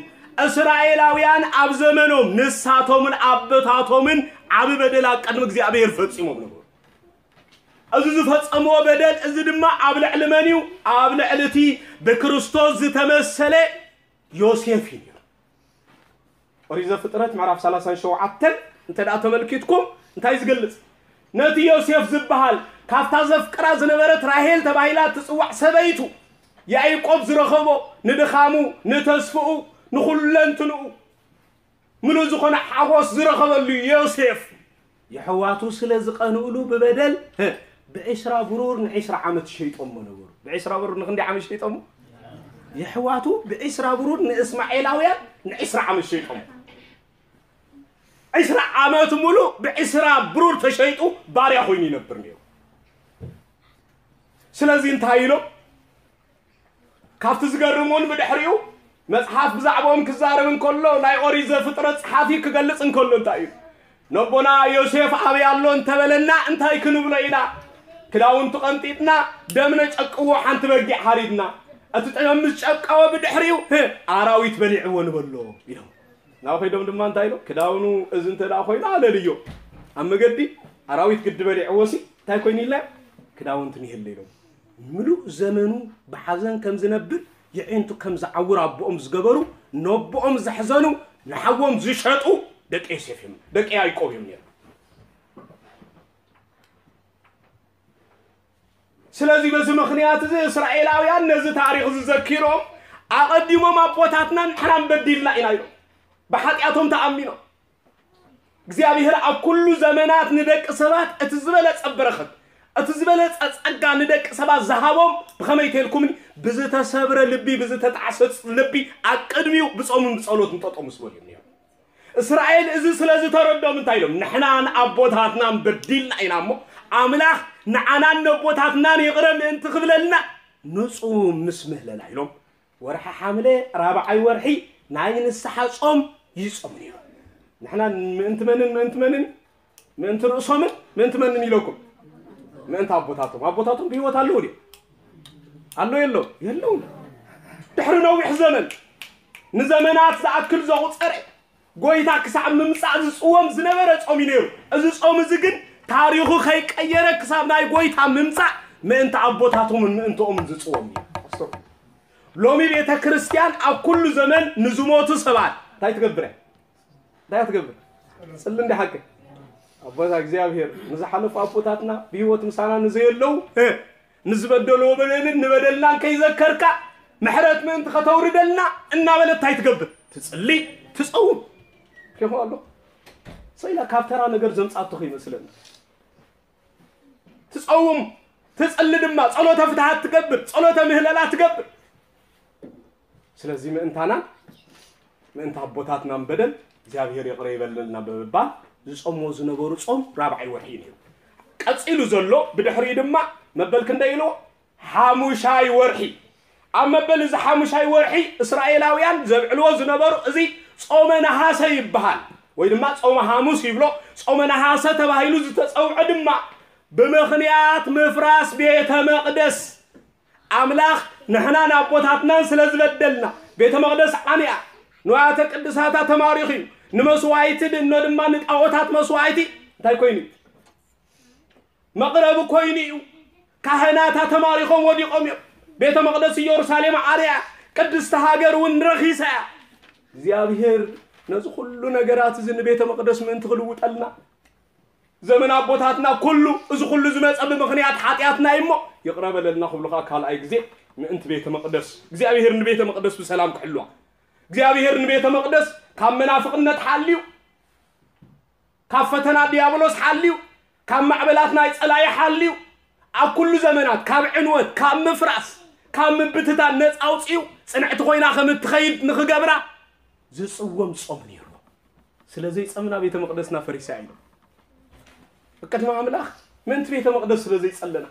እስራኤላውያን ኣብ ዘመኖም ንሳቶምን ኣቦታቶምን ዓቢ በደል ኣብ ቅድሚ እግዚኣብሔር ፈጺሞም ነበሩ። እዚ ዝፈጸምዎ በደል እዚ ድማ ኣብ ልዕሊ መን እዩ? ኣብ ልዕሊ እቲ ብክርስቶስ ዝተመሰለ ዮሴፍ እዩ ነይሩ። ኦሪት ዘፍጥረት ምዕራፍ ሰላሳን ሸውዓተን እንተ ደኣ ተመልኪትኩም እንታይ ዝገልጽ? ነቲ ዮሴፍ ዝበሃል ካብታ ዘፍቅራ ዝነበረት ራሄል ተባሂላ እትጽዋዕ ሰበይቱ ያዕቆብ ዝረኸቦ ንድኻሙ፣ ንተስፍኡ፣ ንኹለንትንኡ ምሉእ ዝኾነ ሓጎስ ዝረኸበሉ ዮሴፍ የሕዋቱ ስለ ዝቐንእሉ ብበደል፣ ህ፣ ብዕስራ ብሩር ንዕስራ ዓመት ሸይጦሞ ነበሩ። ብዕስራ ብሩር ንክንደይ ዓመት ሸይጦሞ? የሕዋቱ ብዒስራ ብሩር ንእስማኤላውያን ንዒስራ ዓመት ሸይጦም። ዒስራ ዓመት ሙሉእ ብዒስራ ብሩር ተሸይጡ ባርያ ኮይኑ ይነብር ነይሩ። ስለዚ እንታይ ኢሎም? ካብቲ ዝገርም እውን ብድሕሪኡ መጽሓፍ ብዛዕባኦም ክዛረብ እንከሎ፣ ናይ ኦሪት ዘፍጥረት ጸሓፊ ክገልጽ እንከሎ እንታይ እዩ? ነቦና ዮሴፍ ኣበይ ኣሎ እንተበለና እንታይ ክንብሎ ኢና? ክዳውንቱ ቀንጢጥና፣ ደም ነጨቅዎ፣ ሓንቲ በጊዕ ሓሪድና፣ እቲ ደም ምስ ጨቀወ ብድሕሪኡ፣ ህ፣ ኣራዊት በሊዕዎ ንበሎ ኢሎም። ናብ ከይዶም ድማ እንታይ ኢሎም? ክዳውኑ እዚ እንተ ደኣ ኮይኑ ኣለልዮ። ኣብ መገዲ ኣራዊት ግዲ በሊዕዎ ሲ እንታይ ኮይኑ ኢልና? ክዳውንቱ ንየለ ኢሎም። ምሉእ ዘመኑ ብሓዘን ከም ዝነብር፣ የዒንቱ ከም ዝዓውር ኣቦኦም ዝገበሩ፣ ነቦኦም ዘሕዘኑ፣ ንሓዎም ዝሸጡ ደቂ ዮሴፍ እዮም፣ ደቂ ያዕቆብ እዮም ነይሮም። ስለዚ በዚ ምኽንያት እዚ እስራኤላውያን ነዚ ታሪኽ እዚ ዘኪሮም፣ ኣቐዲሞም ኣቦታትና ንሕና በዲልና ኢና ኢሎም። ብሓጢኣቶም ተኣሚኖም። እግዚኣብሔር ኣብ ኩሉ ዘመናት ንደቂ ሰባት እቲ ዝበለጸ በረኸት፣ እቲ ዝበለጸ ጸጋ ንደቂ ሰባት ዝሃቦም ብኸመይ ተልኩምኒ? ብዝተሰብረ ልቢ፣ ብዝተጣዕሰ ልቢ ኣብ ቅድሚኡ ብጾምን ብጸሎትን ጠጠው ምስ በሉ እዮም ነይሮም። እስራኤል እዚ ስለ ዝተረዶም እንታይ ኢሎም? ንሕናን ኣቦታትናን በዲልና ኢና እሞ፣ ኣምላኽ ንዓናን ነቦታትናን ይቕረ ምእንቲ ክብለልና ንጹም ምስ ምህለላ ኢሎም፣ ወርሒ ሓምለ ራብዓይ ወርሒ ናይ ንስሓ ጾም ይጾሙ ነይሮም። ንሕና ምእንቲ መንን ምእንቲ መንን? ምእንቲ ርእሶምን ምእንቲ መንን ኢለኩም? ምእንቲ ኣቦታቶም። ኣቦታቶም ብህይወት ኣለዉ ድዮም? ኣሎ የለዉ? የለዉን። ድሕሪ ነዊሕ ዘመን፣ ንዘመናት ዝኣክል ዘቑጸረ፣ ጎይታ ክሳብ ምምጻእ ዝጽወም ዝነበረ ጾም እዩ ነይሩ። እዚ ጾም እዚ ግን ታሪኹ ከይቀየረ ክሳብ ናይ ጎይታ ምምጻእ ምእንቲ ኣቦታቶምን ምእንትኦምን ዝጽወም እዩ። ኣስተውዕሉ። ሎሚ ቤተ ክርስቲያን ኣብ ኩሉ ዘመን ንዝሞቱ ሰባት እንታይ ትገብር እያ? እንታይ ትገብር? ጽሊ እንዲ ሓቂ። ኣቦታ እግዚኣብሔር ንዝሓለፉ ኣቦታትና ብህይወት ምሳና ንዘየለዉ፣ እ፣ ንዝበደልዎ በደልን ንበደልናን ከይዘከርካ ምሕረት ምእንቲ ከተውርደልና እናበለት እንታይ ትገብር? ትጽሊ፣ ትጸውም። ኬኹ ኣሎ። ሰይላ ካብ ተራ ነገር ዘምጻቶ ከይመስለና። ትጸውም፣ ትጽሊ ድማ፣ ጸሎተ ፍትሓት ትገብር፣ ጸሎተ ምህለላ ትገብር። ስለዚ ምእንታና፣ ምእንቲ ኣቦታትናን በደል እግዚኣብሔር ይቕረ ይበለልና ብምባል ዝጾምዎ ዝነበሩ ጾም ራብዓይ ወርሒ እዩ ነይሩ። ቀጺሉ ዘሎ ብድሕሪኡ ድማ መበል ክንደይ ኢልዎ? ሓሙሻይ ወርሒ። ኣብ መበል እዚ ሓሙሻይ ወርሒ እስራኤላውያን ዘብዕልዎ ዝነበሩ እዚ ጾመ ነሃሰ ይበሃል፣ ወይ ድማ ጾመ ሓሙስ ይብሎ። ጾመ ነሃሰ ተባሂሉ ዝተጸውዐ ድማ ብምኽንያት ምፍራስ ቤተ መቕደስ ኣምላኽ ንሕናን ኣቦታትናን ስለ ዝበደልና፣ ቤተ መቕደስ ዓንያ፣ ንዋያተ ቅድሳታ ተማሪኹ እዩ፣ ንመስዋዕቲ ድኖ ድማ ንጣዖታት መስዋዕቲ እንታይ ኮይኑ እዩ? መቕረቢ ኮይኑ እዩ። ካህናታ ተማሪኾም ወዲቖም እዮም። ቤተ መቕደስ ኢየሩሳሌም ዓርያ፣ ቅድስቲ ሃገር እውን ረኺሳ እያ። እግዚኣብሔር ነዚ ኩሉ ነገራት እዚ ንቤተ መቕደስ ምእንቲ ክልውጠልና፣ ዘመን ኣቦታትና ኩሉ፣ እዚ ኩሉ ዝመጸ ብምኽንያት ሓጢኣትና እዩ እሞ፣ ይቕረ በለልና ክብሉ ኸኣ ካልኣይ ግዜ ምእንቲ ቤተ መቕደስ፣ እግዚኣብሔር ንቤተ መቕደስ ብሰላም ክሕልዋ፣ እግዚኣብሔር ንቤተ መቕደስ ካብ መናፍቕነት ሓልዩ፣ ካብ ፈተና ዲያብሎስ ሓልዩ፣ ካብ ማዕበላት ናይ ጸላኢ ሓልዩ፣ ኣብ ኩሉ ዘመናት ካብ ዕንወት፣ ካብ ምፍራስ፣ ካብ ምብትታን ነጻ ኣውጺኡ፣ ጽንዕቲ ኮይና ከም እትኸይድ ንኽገብራ ዝጽወም ጾም ነይሩ። ስለ ዘይጸምና ቤተ መቕደስና ፈሪሳ ኢሉ። ቅድሚ ኣምላኽ ምእንቲ ቤተ መቕደስ ስለ ዘይጸለና።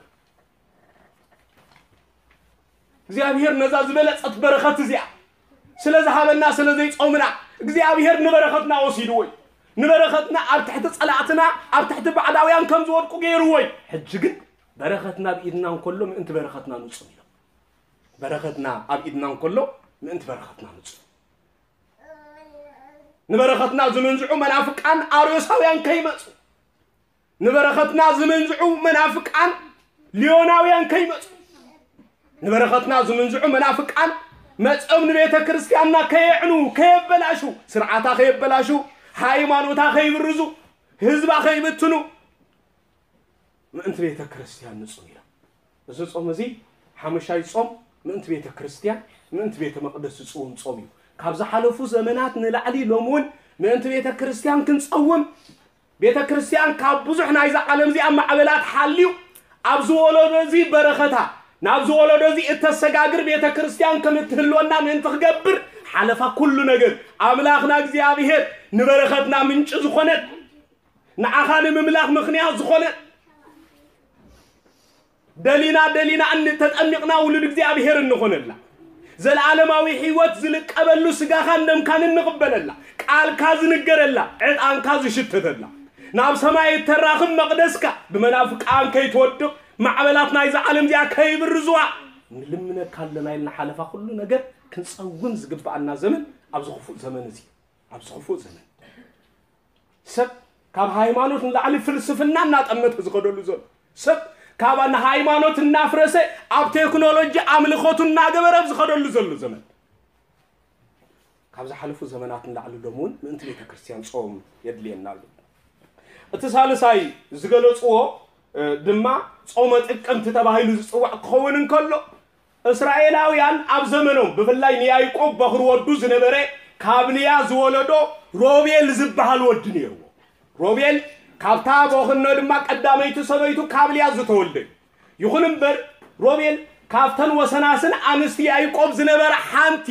እግዚኣብሔር ነዛ ዝበለጸት በረኸት እዚኣ ስለ ዝሃበና፣ ስለ ዘይጾምና፣ እግዚኣብሔር ንበረኸትና ወሲድዎ እዩ። ንበረኸትና ኣብ ትሕቲ ጸላእትና፣ ኣብ ትሕቲ ባዕዳውያን ከም ዝወድቁ ገይርዎ እዩ። ሕጂ ግን በረኸትና ኣብ ኢድና እንከሎ ምእንቲ በረኸትና ንጹም ኢሎም። በረኸትና ኣብ ኢድና እንከሎ ምእንቲ በረኸትና ንጹም። ንበረኸትና ዝምንዝዑ መናፍቃን ኣርዮሳውያን ከይመጹ፣ ንበረኸትና ዝምንዝዑ መናፍቃን ሊዮናውያን ከይመጹ፣ ንበረኸትና ዝምንዝዑ መናፍቃን መጺኦም ንቤተ ክርስቲያንና ከየዕኑ፣ ከየበላሹ፣ ስርዓታ ከየበላሹ፣ ሃይማኖታ ከይብርዙ፣ ህዝባ ከይብትኑ፣ ምእንቲ ቤተ ክርስቲያን ንጹም ኢሎም። እዚ ጾም እዚ ሓሙሻይ ጾም ምእንቲ ቤተ ክርስቲያን፣ ምእንቲ ቤተ መቕደስ ዝጽውም ጾም እዩ። ካብ ዝሓለፉ ዘመናት ንላዕሊ ሎም እውን ምእንቲ ቤተ ክርስቲያን ክንጸውም፣ ቤተ ክርስቲያን ካብ ብዙሕ ናይዛ ዓለም እዚኣ ማዕበላት ሓልዩ፣ ኣብዚ ወለዶ እዚ በረኸታ፣ ናብዚ ወለዶ እዚ እተሰጋግር ቤተ ክርስቲያን ከም እትህልወና ምእንቲ ክገብር ሓለፋ ኩሉ ነገር ኣምላኽና እግዚኣብሔር ንበረኸትና ምንጪ ዝኾነት ንዓኻ ንምምላኽ ምኽንያት ዝኾነ ደሊና ደሊና እን ተጠሚቕና ውሉድ እግዚኣብሔር እንኾነላ ዘለዓለማዊ ሕይወት ዝልቀበሉ ስጋኻን ደምካን እንቕበለላ ቃልካ ዝንገረላ ዕጣንካ ዝሽተተላ ናብ ሰማይ እተራኽብ መቕደስካ ብመናፍቃን ከይትወድቕ ማዕበላት ናይዛ ዓለም እዚኣ ከይብርዝዋ ንልምነካ ኣለና ኢልና ሓለፋ ኩሉ ነገር ክንጸውም ዝግብኣና ዘመን ኣብዚ ክፉእ ዘመን እዚ ኣብዚ ክፉእ ዘመን ሰብ ካብ ሃይማኖት ንላዕሊ ፍልስፍና እናጠመተ ዝኸደሉ ዘሎ ሰብ ካብ ንሃይማኖት እናፍረሰ ኣብ ቴክኖሎጂ ኣምልኾቱ እናገበረ ኣብ ዝኸደሉ ዘሎ ዘመን ካብ ዝሓለፉ ዘመናት ንላዕሊ ሎም እውን ምእንቲ ቤተ ክርስቲያን ጾም የድልየና ኣሎ እቲ ሳልሳይ ዝገለጽዎ ድማ ጾመ ጥቅምቲ ተባሂሉ ዝጽዋዕ ክኸውን እንከሎ እስራኤላውያን ኣብ ዘመኖም ብፍላይ ንያይቆብ በኹሪ ወዱ ዝነበረ ካብ ልያ ዝወለዶ ሮቤል ዝበሃል ወዲ ነይርዎ ሮቤል ካብታ በኹኖ ድማ ቀዳመይቲ ሰበይቱ ካብ ልያ ዝተወልደ እዩ ይኹን እምበር ሮቤል ካብተን ወሰናስን ኣንስቲ ያይቆብ ዝነበረ ሓንቲ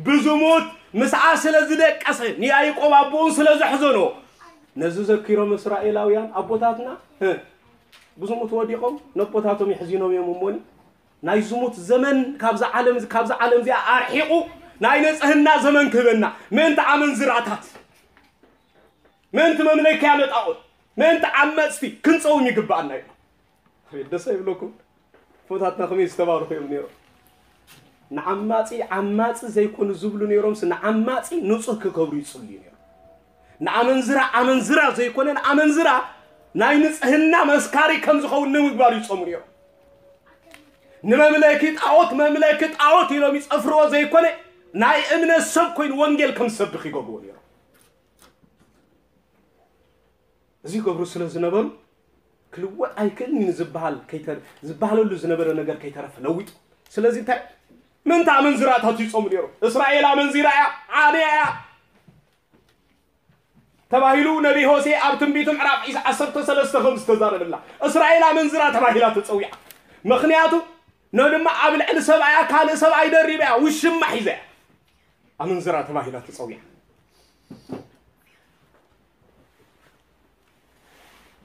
ብዝሙት ምስኣ ስለ ዝደቀሰ ንያይቆብ ኣቦኡን ስለ ዘሕዘኖ ነዚ ዘኪሮም እስራኤላውያን ኣቦታትና ብዝሙት ወዲቖም ነቦታቶም የሕዚኖም እዮም እሞኒ ናይ ዝሙት ዘመን ካብዛ ዓለም ካብዛ ዓለም እዚኣ ኣርሒቑ ናይ ንጽህና ዘመን ክህበና ምእንቲ ኣመንዝራታት ምእንቲ መምለኪያ ለጣኦት ምእንቲ ዓመፅቲ ክንፀውም ይግባኣና እዩ ደስ ይብለኩም ፎታትና ከመይ ዝተባረኹ እዮም ነይሮም ንዓማፂ ዓማፂ ዘይኮኑ ዝብሉ ነይሮምስ ንዓማፂ ንፁህ ክገብሩ ይፅልዩ ነይሮም ንኣመንዝራ ኣመንዝራ ዘይኮነ ንኣመንዝራ ናይ ንፅህና መስካሪ ከም ዝኸውን ንምግባር ይፀሙ ነይሮም ንመምለኪ ጣዖት መምለኪ ጣዖት ኢሎም ይፀፍርዎ ዘይኮነ ናይ እምነት ሰብ ኮይኑ ወንጌል ከም ዝሰብኽ ይገብርዎ ነይሮም እዚ ይገብሩ ስለ ዝነበሩ ክልወጥ ኣይክእልን እዩ ዝበሃል ዝበሃለሉ ዝነበረ ነገር ከይተረፈ ለዊጡ ስለዚ እንታይ ምንታ ኣመንዝራታት ይጾሙ ነይሮም እስራኤል ኣመንዚራ እያ ዓንያ እያ ተባሂሉ ነቢ ሆሴ ኣብ ትንቢቱ ምዕራፍ ዒስ ዓሰርተ ሰለስተ ከም ዝተዛረበላ እስራኤል ኣመንዝራ ተባሂላ ተጸዊዓ ምኽንያቱ ኖ ድማ ኣብ ልዕሊ ሰብኣያ ካልእ ሰብኣይ ደሪባ እያ ውሽማ ሒዛ እያ ኣመንዝራ ተባሂላ ተጸዊዓ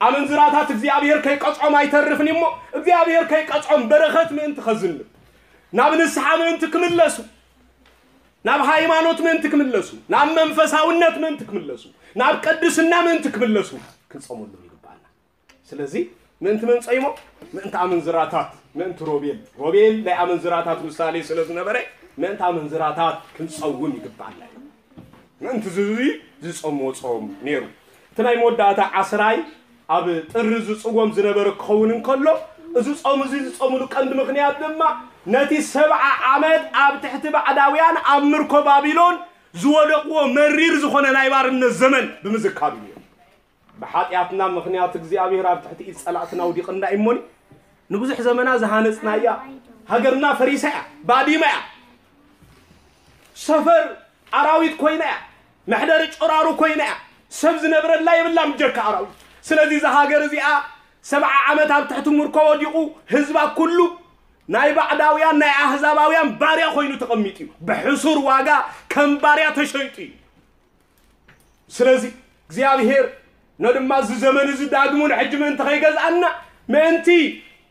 ኣመንዝራታት እግዚኣብሔር ከይቀጽዖም ኣይተርፍን እሞ እግዚኣብሔር ከይቀጽዖም በረኸት ምእንቲ ኸዝንብ ናብ ንስሓ ምእንቲ ክምለሱ ናብ ሃይማኖት ምእንቲ ክምለሱ ናብ መንፈሳውነት ምእንቲ ክምለሱ ናብ ቅድስና ምእንቲ ክምለሱ ክንጸመሎም ይግባኣና ስለዚ ምእንቲ መን ጸይሞ ምእንቲ ኣመንዝራታት ምእንቲ ሮቤል ሮቤል ናይ ኣመንዝራታት ምሳሌ ስለ ዝነበረ ምእንቲ ኣመንዝራታት ክንጸውም ይግባኣና እዩ ምእንቲ ዝዙይ ዝጸምዎ ጾም ነይሩ እቲ ናይ መወዳእታ ዓስራይ ኣብ ጥሪ ዝጽዎም ዝነበረ ክኸውን እንከሎ እዚ ጾም እዚ ዝጸምሉ ቀንዲ ምኽንያት ድማ ነቲ ሰብዓ ዓመት ኣብ ትሕቲ ባዕዳውያን ኣብ ምርኮ ባቢሎን ዝወደቕዎ መሪር ዝኾነ ናይ ባርነት ዘመን ብምዝካር እዩ ነይሩ። ብሓጢኣትና ምኽንያት እግዚኣብሔር ኣብ ትሕቲ ኢድ ጸላእትና ውዲቕና እሞኒ ንብዙሕ ዘመና ዝሃነጽናያ ሃገርና ፈሪሳ እያ፣ ባዲማ እያ፣ ሰፈር ኣራዊት ኮይና እያ፣ መሕደሪ ጨራሩ ኮይና እያ፣ ሰብ ዝነብረላ የብላን ብጀካ ኣራዊት። ስለዚ እዛ ሃገር እዚኣ ሰብዓ ዓመት ኣብ ትሕቲ ምርኮ ወዲቑ ህዝባ ኩሉ ናይ ባዕዳውያን ናይ ኣህዛባውያን ባርያ ኮይኑ ተቐሚጡ እዩ። ብሕሱር ዋጋ ከም ባርያ ተሸይጡ እዩ። ስለዚ እግዚኣብሔር ኖ ድማ እዚ ዘመን እዚ ዳግሙ ንሕጂ ምእንቲ ከይገዝኣና ምእንቲ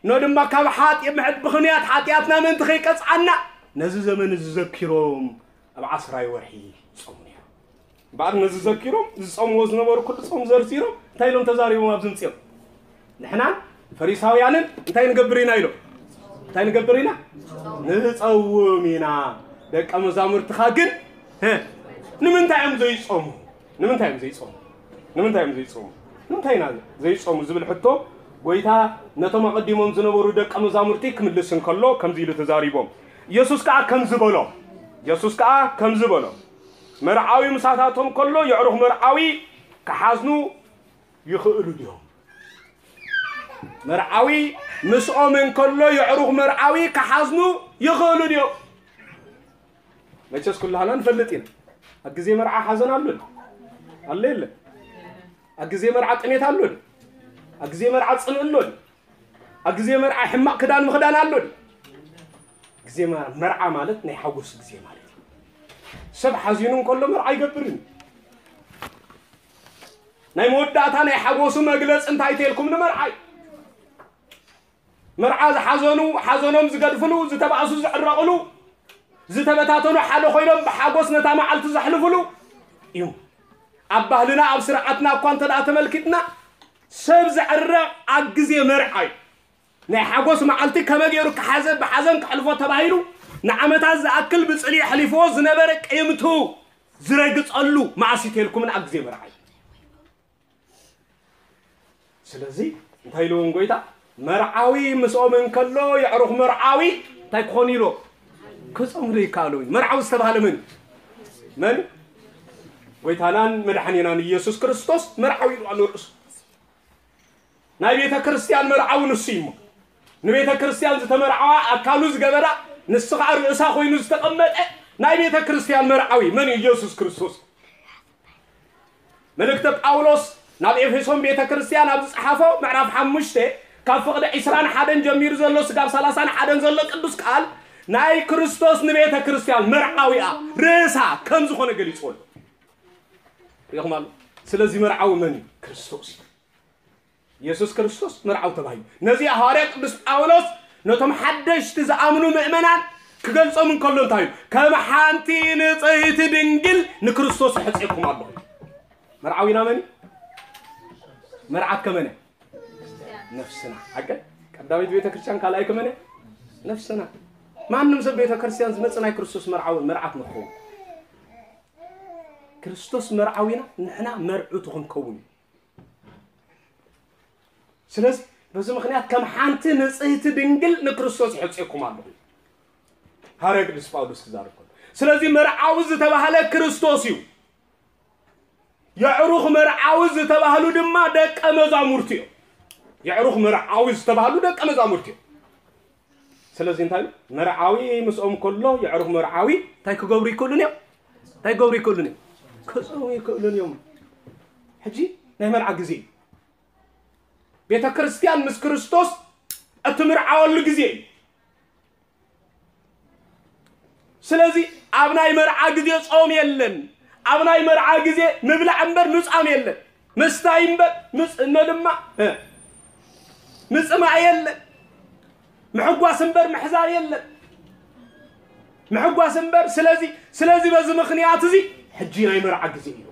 ኖ ድማ ካብ ሓጢ- ምሕድ- ብኽንያት ሓጢኣትና ምእንቲ ከይቀፅዓና ነዚ ዘመን እዚ ዘኪሮም ኣብ ዓስራይ ወርሒ ይፀሙ ነይሮም። እምበኣር ነዚ ዘኪሮም ዝፀምዎ ዝነበሩ ኩሉ ፆም ዘርዚሮም እንታይ ኢሎም ተዛሪቦም ኣብዚ ምፅኦም ንሕናን ፈሪሳውያንን እንታይ ንገብር ኢና ኢሎም እንታይ ንገብር ኢና ንፀውም ኢና ደቀ መዛሙርትኻ ግን እ፣ ንምንታይ እዮም ዘይፀሙ ንምንታይ እዮም ዘይፀሙ ንምንታይ እዮም ዘይፀሙ ንምንታይ ኢና ዘይፀሙ ዝብል ሕቶ ጎይታ ነቶም ኣቐዲሞም ዝነበሩ ደቀ መዛሙርቲ ክምልስ እንከሎ ከምዚ ኢሉ ተዛሪቦም ኢየሱስ ከዓ ከምዚ በሎም ኢየሱስ ከዓ ከምዚ በሎም መርዓዊ ምሳታቶም ከሎ የዕሩኽ መርዓዊ ክሓዝኑ ይኽእሉ ድዮም? መርዓዊ ምስኦም እንከሎ የዕሩኽ መርዓዊ ክሓዝኑ ይኽእሉ ድዮም? መቸስ ኩላህና ንፈልጥ ኢና። ኣብ ግዜ መርዓ ሓዘን ኣሎ ኣሎ የለ? ኣብ ግዜ መርዓ ጥሜት ኣሎ ኣሎ? ኣብ ግዜ መርዓ ጽልኢ ኣሎ ኣሎ? ኣብ ግዜ መርዓ ሕማቕ ክዳን ምኽዳን ኣሎ ኣሎ? ግዜ መ- መርዓ ማለት ናይ ሓጎስ ግዜ ማለት እዩ። ሰብ ሓዚኑ እንከሎ መርዓ ኣይገብርን። ናይ መወዳእታ ናይ ሓጎሱ መግለፂ እንታይ ተልኩም ንመርዓ እዩ። መርዓ ዝሓዘኑ ሓዘኖም ዝገድፍሉ፣ ዝተባእሱ ዝዕረቕሉ፣ ዝተበታተኑ ሓደ ኮይኖም ብሓጎስ ነታ መዓልቲ ዘሕልፍሉ እዩ። ኣብ ባህልና ኣብ ስርዓትና እኳ እንተ ደኣ ተመልኪትና ሰብ ዝዕረቕ ኣብ ግዜ መርዓ እዩ። ናይ ሓጎስ መዓልቲ ከመይ ገይሩ ክሓዘ ብሓዘን ከሕልፎ ተባሂሉ ንዓመታት ዝኣክል ብፅልኢ ኣሕሊፍዎ ዝነበረ ቅይምቱ ዝረግፀሉ መዓስ እዩ ተልኩምን ኣብ ግዜ መርዓ እዩ። ስለዚ እንታይ ኢልዎም ጎይታ? መርዓዊ ምስኦም እንከሎ የዕሩኽ መርዓዊ እንታይ ክኾኑ ኢልዎም? ክጾምሉ ይከኣሉ። መርዓዊ ዝተባህለ መን እዩ? መን እዩ? ጎይታናን መድሓኒናን ኢየሱስ ክርስቶስ መርዓዊ ኢሉ ኣሎ ርእሱ። ናይ ቤተ ክርስቲያን መርዓዊ ንሱ እዩ እሞ ንቤተ ክርስቲያን ዝተመርዓዋ ኣካሉ ዝገበራ ንሱ ከዓ ርእሳ ኮይኑ ዝተቐመጠ ናይ ቤተ ክርስቲያን መርዓዊ መን እዩ? ኢየሱስ ክርስቶስ። መልእክተ ጳውሎስ ናብ ኤፌሶን ቤተ ክርስቲያን ኣብ ዝጸሓፎ ምዕራፍ ሓሙሽተ ካብ ፍቕዲ ዕስራን ሓደን ጀሚሩ ዘሎ ስጋብ ሰላሳን ሓደን ዘሎ ቅዱስ ቃል ናይ ክርስቶስ ንቤተ ክርስቲያን መርዓዊኣ ርእሳ ከም ዝኾነ ገሊጽዎ ኣሎ። ሪኹም ኣሎ። ስለዚ መርዓዊ መን እዩ? ክርስቶስ እዩ። ኢየሱስ ክርስቶስ መርዓዊ ተባሂሉ። ነዚ ሃዋርያ ቅዱስ ጳውሎስ ነቶም ሓደሽቲ ዝኣምኑ ምእመናን ክገልጾም እንከሎ እንታይ እዩ? ከም ሓንቲ ንጽህቲ ድንግል ንክርስቶስ ሕጽየኩም ኣለኹ። መርዓዊና መን እዩ? መርዓት ከመነ? ነፍስና። ሓቀ ቀዳሚት ቤተ ክርስቲያን ካልኣይ ከመነ? ነፍስና። ማንም ሰብ ቤተ ክርስቲያን ዝመጽእ ናይ ክርስቶስ መርዓዊ መርዓት ንኸውን። ክርስቶስ መርዓዊና ንሕና መርዑቱ ክንከውን እዩ። ስለዚ በዚ ምኽንያት ከም ሓንቲ ንጽህቲ ድንግል ንክርስቶስ ይሕጽየኩም ኣለኹ። ሃዋርያ ቅዱስ ጳውሎስ ክዛረብ ከሎ ስለዚ መርዓዊ ዝተባህለ ክርስቶስ እዩ። የዕሩኽ መርዓዊ ዝተባህሉ ድማ ደቀ መዛሙርቲ እዮም። የዕሩኽ መርዓዊ ዝተባህሉ ደቀ መዛሙርቲ እዮም። ስለዚ እንታይ እዩ? መርዓዊ ምስኦም ከሎ የዕሩኽ መርዓዊ እንታይ ክገብሩ ይክእሉን እዮም? እንታይ ክገብሩ ይክእሉን እዮም? ክጾሙ ይክእሉን እዮም። ሕጂ ናይ መርዓ ግዜ እዩ። ቤተ ክርስቲያን ምስ ክርስቶስ እትምርዓወሉ ግዜ እዩ። ስለዚ ኣብ ናይ መርዓ ግዜ ጾም የለን። ኣብ ናይ መርዓ ግዜ ምብላዕ እምበር ምጻም የለን። ምስታይ እምበር ምጽ እነ ድማ እ፣ ምጽማእ የለን። ምሕጓስ እምበር ምሕዛን የለን። ምሕጓስ እምበር ስለዚ ስለዚ በዚ ምኽንያት እዚ ሕጂ ናይ መርዓ ግዜ እዩ።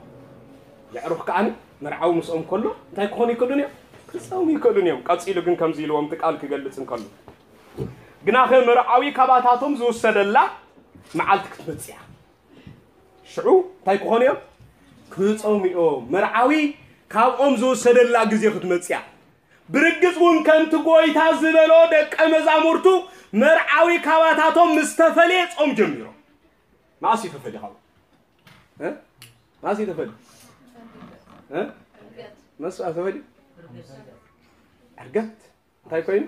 የዕሩኽ ከኣ መርዓዊ ምስኦም ከሎ እንታይ ክኾኑ ይክእሉን እዮም? ክጸሙ ይክእሉን እዮም። ቀጺሉ ግን ከምዚ ኢልዎም እቲ ቃል ክገልጽ እንከሎ ግናኸ መርዓዊ ካባታቶም ዝውሰደላ መዓልቲ ክትመጽእ እያ። ሽዑ እንታይ ክኾኑ እዮም? ክጸሙ እዮም። መርዓዊ ካብኦም ዝወሰደላ ግዜ ክትመጽእ እያ። ብርግጽ እውን ከምቲ ጎይታ ዝበሎ ደቀ መዛሙርቱ መርዓዊ ካባታቶም ምስ ተፈልየ ጾም ጀሚሮም። መዓስ እዩ ተፈልዩ ካብኡ? እ? መዓስ እዩ ተፈልዩ? እ? መስዋዕ ተፈልዩ? ዕርገት እንታይ ኮይኑ?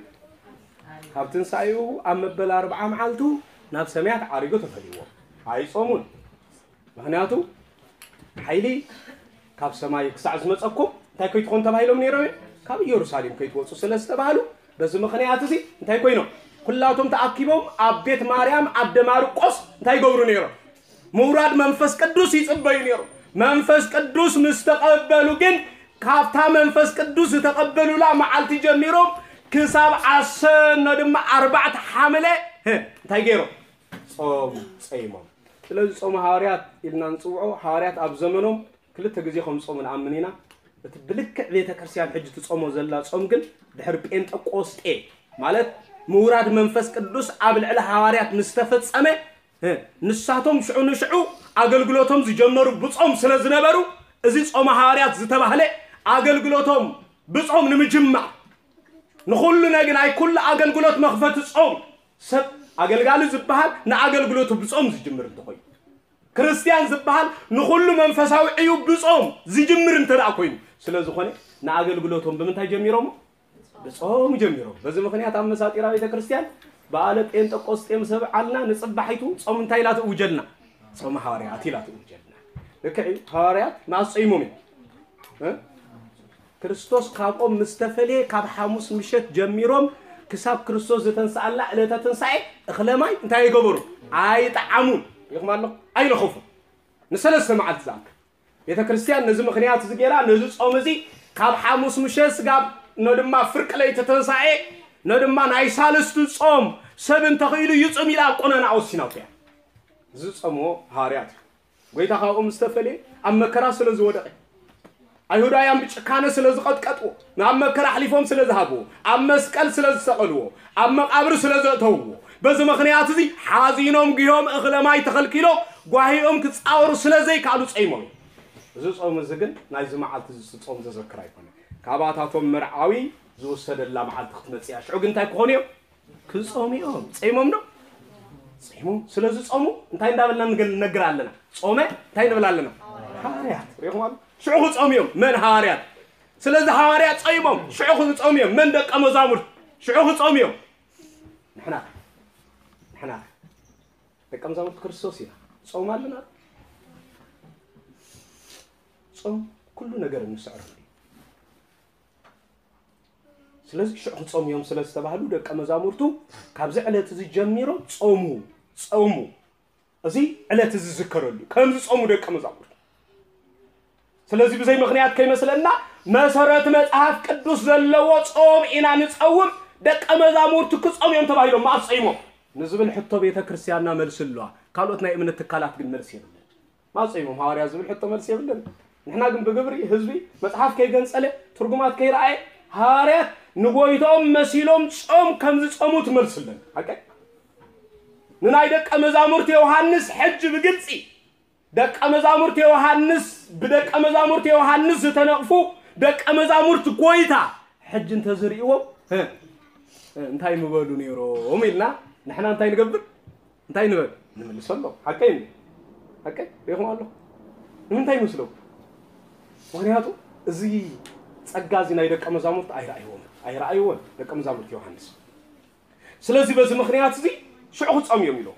ካብ ትንሳኤኡ ኣብ መበል ኣርብዓ መዓልቱ ናብ ሰማያት ዓሪጉ ተፈልይዎ። ኣይጾሙን። ምኽንያቱ ሓይሊ ካብ ሰማይ ክሳዕ ዝመጸኩም እንታይ ከይትኾኑ ተባሂሎም ነይሮም እዮም? ካብ ኢየሩሳሌም ከይትወጹ ስለ ዝተባህሉ በዚ ምኽንያት እዚ እንታይ ኮይኖም? ኩላቶም ተኣኪቦም ኣብ ቤት ማርያም ኣደ ማርቆስ እንታይ ይገብሩ ነይሮም? ምውራድ መንፈስ ቅዱስ ይጽበዩ ነይሮም። መንፈስ ቅዱስ ምስ ተቐበሉ ግን ካብታ መንፈስ ቅዱስ ዝተቐበሉላ መዓልቲ ጀሚሮም ክሳብ ኣሰኖ ድማ ኣርባዕተ ሓምለ ህ፣ እንታይ ገይሮም? ጾም ጸይሞም። ስለዚ ጾም ሃዋርያት ኢልና ንጽውዖ። ሃዋርያት ኣብ ዘመኖም ክልተ ግዜ ከም ጾሙ ንኣምን ኢና። እቲ ብልክዕ ቤተ ክርስቲያን ሕጂ ትጾሞ ዘላ ጾም ግን ድሕሪ ጴንጠቆስጤ ማለት ምውራድ መንፈስ ቅዱስ ኣብ ልዕሊ ሃዋርያት ምስ ተፈጸመ እ፣ ንሳቶም ሽዑ ንሽዑ ኣገልግሎቶም ዝጀመሩ ብጾም ስለ ዝነበሩ እዚ ጾመ ሃዋርያት ዝተባህለ ኣገልግሎቶም ብጾም ንምጅማር ንኹሉ ነግ ናይ ኩሉ ኣገልግሎት መኽፈቲ ጾም ሰብ ኣገልጋሊ ዝበሃል ንኣገልግሎቱ ብጾም ዝጅምር እንተኾይኑ ክርስቲያን ዝበሃል ንኹሉ መንፈሳዊ ዕዩ ብጾም ዝጅምር እንተ ደኣ ኮይኑ ስለ ዝኾነ ንኣገልግሎቶም ብምንታይ ጀሚሮሞ? ብጾም ጀሚሮም። በዚ ምኽንያት ኣብ መሳጢራ ቤተ ክርስቲያን በዓለ ጴንጠቆስጤ ምስ ኣብዓልና ንጽባሒቱ ጾም እንታይ ኢላ ትእውጀልና? ጾመ ሃዋርያት ኢላ ትእውጀልና። ልክዕ እዩ። ሃዋርያት መዓስ ጾይሞም እዮም? እ? ክርስቶስ ካብኦም ምስ ተፈልየ ካብ ሓሙስ ምሸት ጀሚሮም ክሳብ ክርስቶስ ዝተንስኣላ ዕለተ ትንሳኤ እኽለ ማይ እንታይ ኣይገበሩ? ኣይጠዓሙን። ይኹም ኣሎ ኣይለኸፉ ንሰለስተ መዓልቲ ዝኣክል። ቤተ ክርስቲያን ነዚ ምኽንያት እዚ ገይራ ነዚ ጾም እዚ ካብ ሓሙስ ምሸት ስጋብ ኖ ድማ ፍርቂ ለይቲ ትንሳኤ ኖ ድማ ናይ ሳልስቱ ጾም ሰብ እንተኽኢሉ ይጹም ኢላ ኣብ ቆነና ወሲናቶ እያ። ዝጸምዎ ሃዋርያት እዩ። ጎይታ ካብኦም ዝተፈልየ ኣብ መከራ ስለ ዝወደቐ፣ ኣይሁዳውያን ብጭካነ ስለ ዝቐጥቀጥዎ፣ ናብ መከራ ኣሕሊፎም ስለ ዝሃብዎ፣ ኣብ መስቀል ስለ ዝሰቐልዎ፣ ኣብ መቓብር ስለ ዘእተውዎ፣ በዚ ምኽንያት እዚ ሓዚኖም ግዮም እኽለ ማይ ተኸልኪሎም ጓሂኦም ክጻወሩ ስለ ዘይከኣሉ ጸይሞም እዮም። እዚ ጾም እዚ ግን ናይዚ መዓልቲ እዚ ጾም ዘዘክር ኣይኮነን። ካባታቶም መርዓዊ ዝወሰደላ መዓልቲ ክትመጽእ እያ። ሽዑ ግን እንታይ ክኾኑ እዮም? ክጾሙ እዮም። ጸይሞም ዶ? ጸይሞም። ስለዚ ጾሙ እንታይ እንዳበልና ንገል- ንነግር ኣለና? ጾመ እንታይ ንብል ኣለና? ሃዋርያት። ሪኹም ኣሎ? ሽዑ ክጾሙ እዮም። መን ሃዋርያት? ስለዚ ሃዋርያት ጸይሞም ሽዑ ክጾሙ እዮም። መን ደቀ መዛሙርት? ሽዑ ክጾሙ እዮም። ንሕና ንሕና ደቀ መዛሙርት ክርስቶስ ኢና። ጾም ኣለና። ጾም ኩሉ ነገር እንስዕረሉ እዩ። ስለዚ ሽዑ ክጾሙ እዮም ስለ ዝተባህሉ ደቀ መዛሙርቱ ካብዚ ዕለት እዚ ጀሚሮም ጾሙ፣ ጾሙ። እዚ ዕለት እዚ ዝዝከረሉ ከም ዝጾሙ ደቀ መዛሙርቱ። ስለዚ ብዘይ ምኽንያት ከይመስለና መሰረት መጽሓፍ ቅዱስ ዘለዎ ጾም ኢና ንጸውም። ደቀ መዛሙርቱ ክጾሙ እዮም ተባሂሎም መዓስ ጾይሞም ንዝብል ሕቶ ቤተ ክርስቲያንና መልሲ ኣለዋ። ካልኦት ናይ እምነት ትካላት ግን መልሲ የብለን። መዓስ ጾይሞም ሃዋርያ ዝብል ሕቶ መልሲ የብለን። ንሕና ግን ብግብሪ ህዝቢ መጽሓፍ ከይገንጸለ ትርጉማት ከይረኣየ ሃዋርያት ንጎይታኦም መሲሎም ጾም ከም ዝጾሙ ትመልስለን። ሓቀይ ንናይ ደቀ መዛሙርት ዮሃንስ ሕጂ ብግልጺ ደቀ መዛሙርት ዮሃንስ ብደቀ መዛሙርት ዮሃንስ ዝተነቕፉ ደቀ መዛሙርት ጎይታ ሕጂ እንተዝርእይዎም እ፣ እ፣ እንታይ ምበሉ ነይሮም ኢልና ንሕና እንታይ ንገብር? እንታይ ንበል? ንምልሰሎም። ሓቀይ እንዲ? ሓቀይ? ሪኹም ኣለኹ። ንምንታይ ይመስለኩም? ምኽንያቱ እዚ ጸጋ እዚ ናይ ደቀ መዛሙርት ኣይረኣይዎን። ኣይረኣይዎን ደቀ መዛሙርት ዮሃንስ። ስለዚ በዚ ምኽንያት እዚ ሽዑ ክጸሙ እዮም ኢሎም።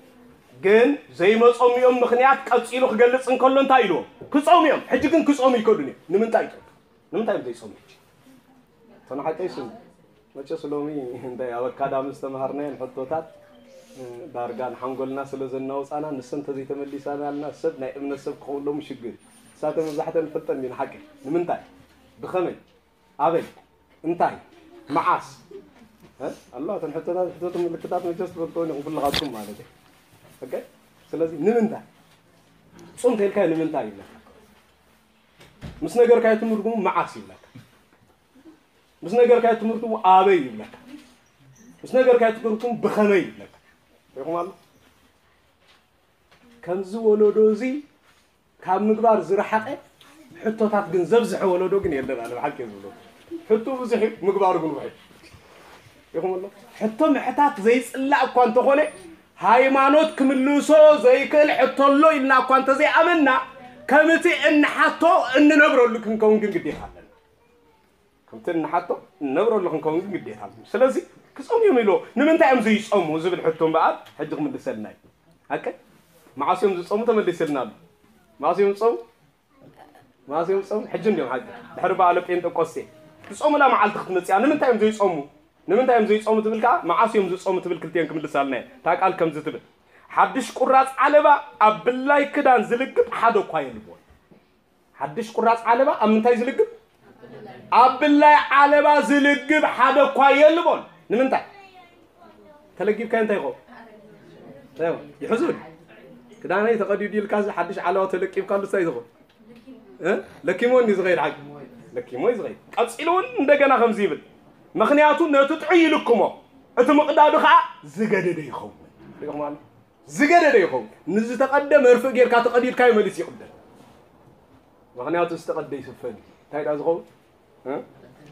ግን ዘይመጸሚኦም ምኽንያት ቀጺሉ ክገልጽ እንከሎ እንታይ ኢልዎም? ክጸሙ እዮም። ሕጂ ግን ክጸሙ ይከዱን እዮም። ንምንታይ ይከዱ? ንምንታይ እዮም ዘይጸሙ ሕጂ? እቶም ሓቀይ ስም መቸስ ሎሚ እንታይ ኣብ ኣካዳሚ ዝተምሃርናየን ሕቶታት እ፣ ዳርጋ ንሓንጎልና ስለ ዘናውጻና ንሰን እንተዘይተመሊሳናልና ሰብ ናይ እምነት ሰብ ክኸውን ሎሚ ሽግር እዩ። ንሳተን መብዛሕተን ንፈልጠን እንዲና ሓቂ። ንምንታይ? ብኸመይ? ኣበይ? እንታይ? መዓስ? እ? ኣሎ እተን ሕቶታት ሕቶት ምልክታት መቸስ ትፈልጥዎን ኢኹም ኩልኻትኩም ማለት እዩ። ኦኬ? ስለዚ ንምንታይ? ጹም ተልካዮ ንምንታይ ይብለካ? ምስ ነገርካዮ ትርጉሙ መዓስ ይብለካ። ምስ ነገርካዮ ትምህርቱ ኣበይ ይብለካ። ምስ ነገርካዮ ትምህርቱ ብኸመይ ይብለካ። ሪኹም ኣሎ? ከምዚ ወለዶ እዚ ካብ ምግባር ዝረሓቐ ሕቶታት ግን ዘብዝሐ ወለዶ ግን የለን። ኣነ ብሓቂ እየ ዝብሎ። ሕቶ ብዙሕ እዩ፣ ምግባሩ ግን ውሑድ። ሪኹም ኣሎ? ሕቶ ምሕታት ዘይጽላእ እኳ እንተኾነ ሃይማኖት ክምልሶ ዘይክእል ሕቶ ኣሎ ኢልና እኳ እንተዘይኣመንና ከምቲ እንሓቶ እንነብረሉ ክንከውን ግን ግዴታ ኣለና። ከምቲ እንሓቶ እንነብረሉ ክንከውን ግን ግዴታ ኣለና። ስለዚ ክጸሙ እዮም ኢልዎ። ንምንታይ እዮም ዘይጸሙ ዝብል ሕቶ እምበኣር ሕጂ ክምልሰልና እዩ። ሓቂ? መዓስ እዮም ዝጸሙ ተመሊስልና ኣሎ። መዓስ እዮም ዝጸሙ? መዓስ እዮም ዝጸሙ? ሕጂ እንዲዮም ሓቂ። ድሕሪ በዓለ ጴንጠቆስቴ ዝጸሙላ መዓልቲ ክትመጽእ እያ። ንምንታይ እዮም ዘይጸሙ? ንምንታይ እዮም ዘይጸሙ ትብል ከኣ መዓስ እዮም ዝጸሙ ትብል ክልቲኤን ክምልሳልና እየን። እታ ቃል ከምዚ ትብል፣ ሓድሽ ቁራጽ ዓለባ ኣብ ብላይ ክዳን ዝልግብ ሓደ እኳ የልቦን። ሓድሽ ቁራጽ ዓለባ ኣብ ምንታይ ዝልግብ? ኣብ ብላይ ዓለባ ዝልግብ ሓደ እኳ የልቦን። ንምንታይ? ተለጊብካዮ እንታይ ይኸውን? እንታይ ይኸውን? ይሕዙን። ክዳነይ ተቐዲዱ ኢልካ እዚ ሓድሽ ዓለባ ተለቂብካሉ እንታይ ትኸውን? እ? ለኪሞን እዩ ዝኸይድ ሓቂ። ለኪሞ እዩ ዝኸይድ። ቀጺሉ እውን እንደገና ከምዚ ይብል። ምኽንያቱ ነቲ ጥዑይ ይልክሞ፣ እቲ ምቕዳዱ ኸዓ ዝገደደ ይኸውን። ሪኢኹም ኣሎ? ዝገደደ ይኸውን። ንዝተቐደ መርፍእ ጌርካ ተቐዲድካዮ መሊስ ይቕደድ። ምኽንያቱ ዝተቐደ ይስፈን እዩ። እንታይ ደኣ ዝኸውን? እ?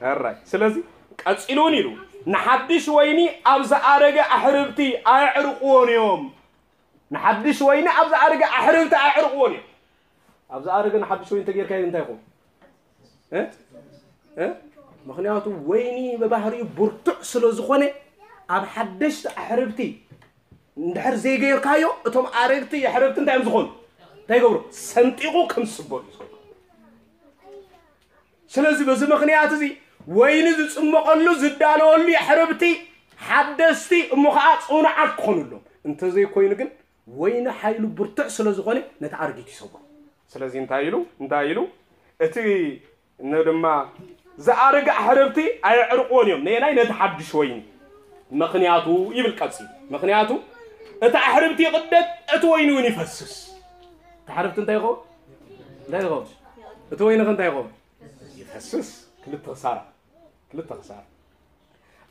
ሕራይ። ስለዚ ቀጺሉ እውን ኢሉ፣ ንሓድሽ ወይኒ ኣብ ዝኣረገ ኣሕርብቲ ኣየዕርቕዎን እዮም። ንሓድሽ ወይኒ ኣብ ዝኣረገ ኣሕርብቲ ኣየዕርቕዎን እዮም። ኣብ ዝኣረገ ንሓድሽ ወይኒ ተጌርካዮ እንታይ ይኸውን? እ? እ? ምኽንያቱ ወይኒ ብባህሪኡ ብርቱዕ ስለ ዝኾነ ኣብ ሓደሽቲ ኣሕርብቲ እንድሕር ዘይገይርካዮ እቶም ኣረግቲ ኣሕርብቲ እንታይ እዮም ዝኾኑ? እንታይ ይገብሩ? ሰንጢቑ ከም ዝስበሩ እዩ ዝኾኑ። ስለዚ በዚ ምኽንያት እዚ ወይኒ ዝጽመቐሉ ዝዳለወሉ ኣሕርብቲ ሓደስቲ እሞ ኸዓ ጽኑዓት ክኾኑሎም። እንተዘይኮይኑ ግን ወይኒ ሓይሉ ብርቱዕ ስለ ዝኾነ ነቲ ኣረጊት ይሰብሮ። ስለዚ እንታይ ኢሉ? እንታይ ኢሉ? እቲ ን ድማ ዝኣረገ ኣሕርብቲ ኣየዕርቕዎን እዮም። ነየናይ? ነቲ ሓድሽ ወይኒ። ምኽንያቱ ይብል ቀጺሉ። ምክንያቱ እቲ ኣሕርብቲ ይቕደድ፣ እቲ ወይኒ እውን ይፈስስ። እቲ ኣሕርብቲ እንታይ ይኸውን? እንታይ ይኸውን? እቲ ወይኒ ከ እንታይ ይኸውን? ይፈስስ። ክልተ ክሳራ። ክልተ ክሳራ።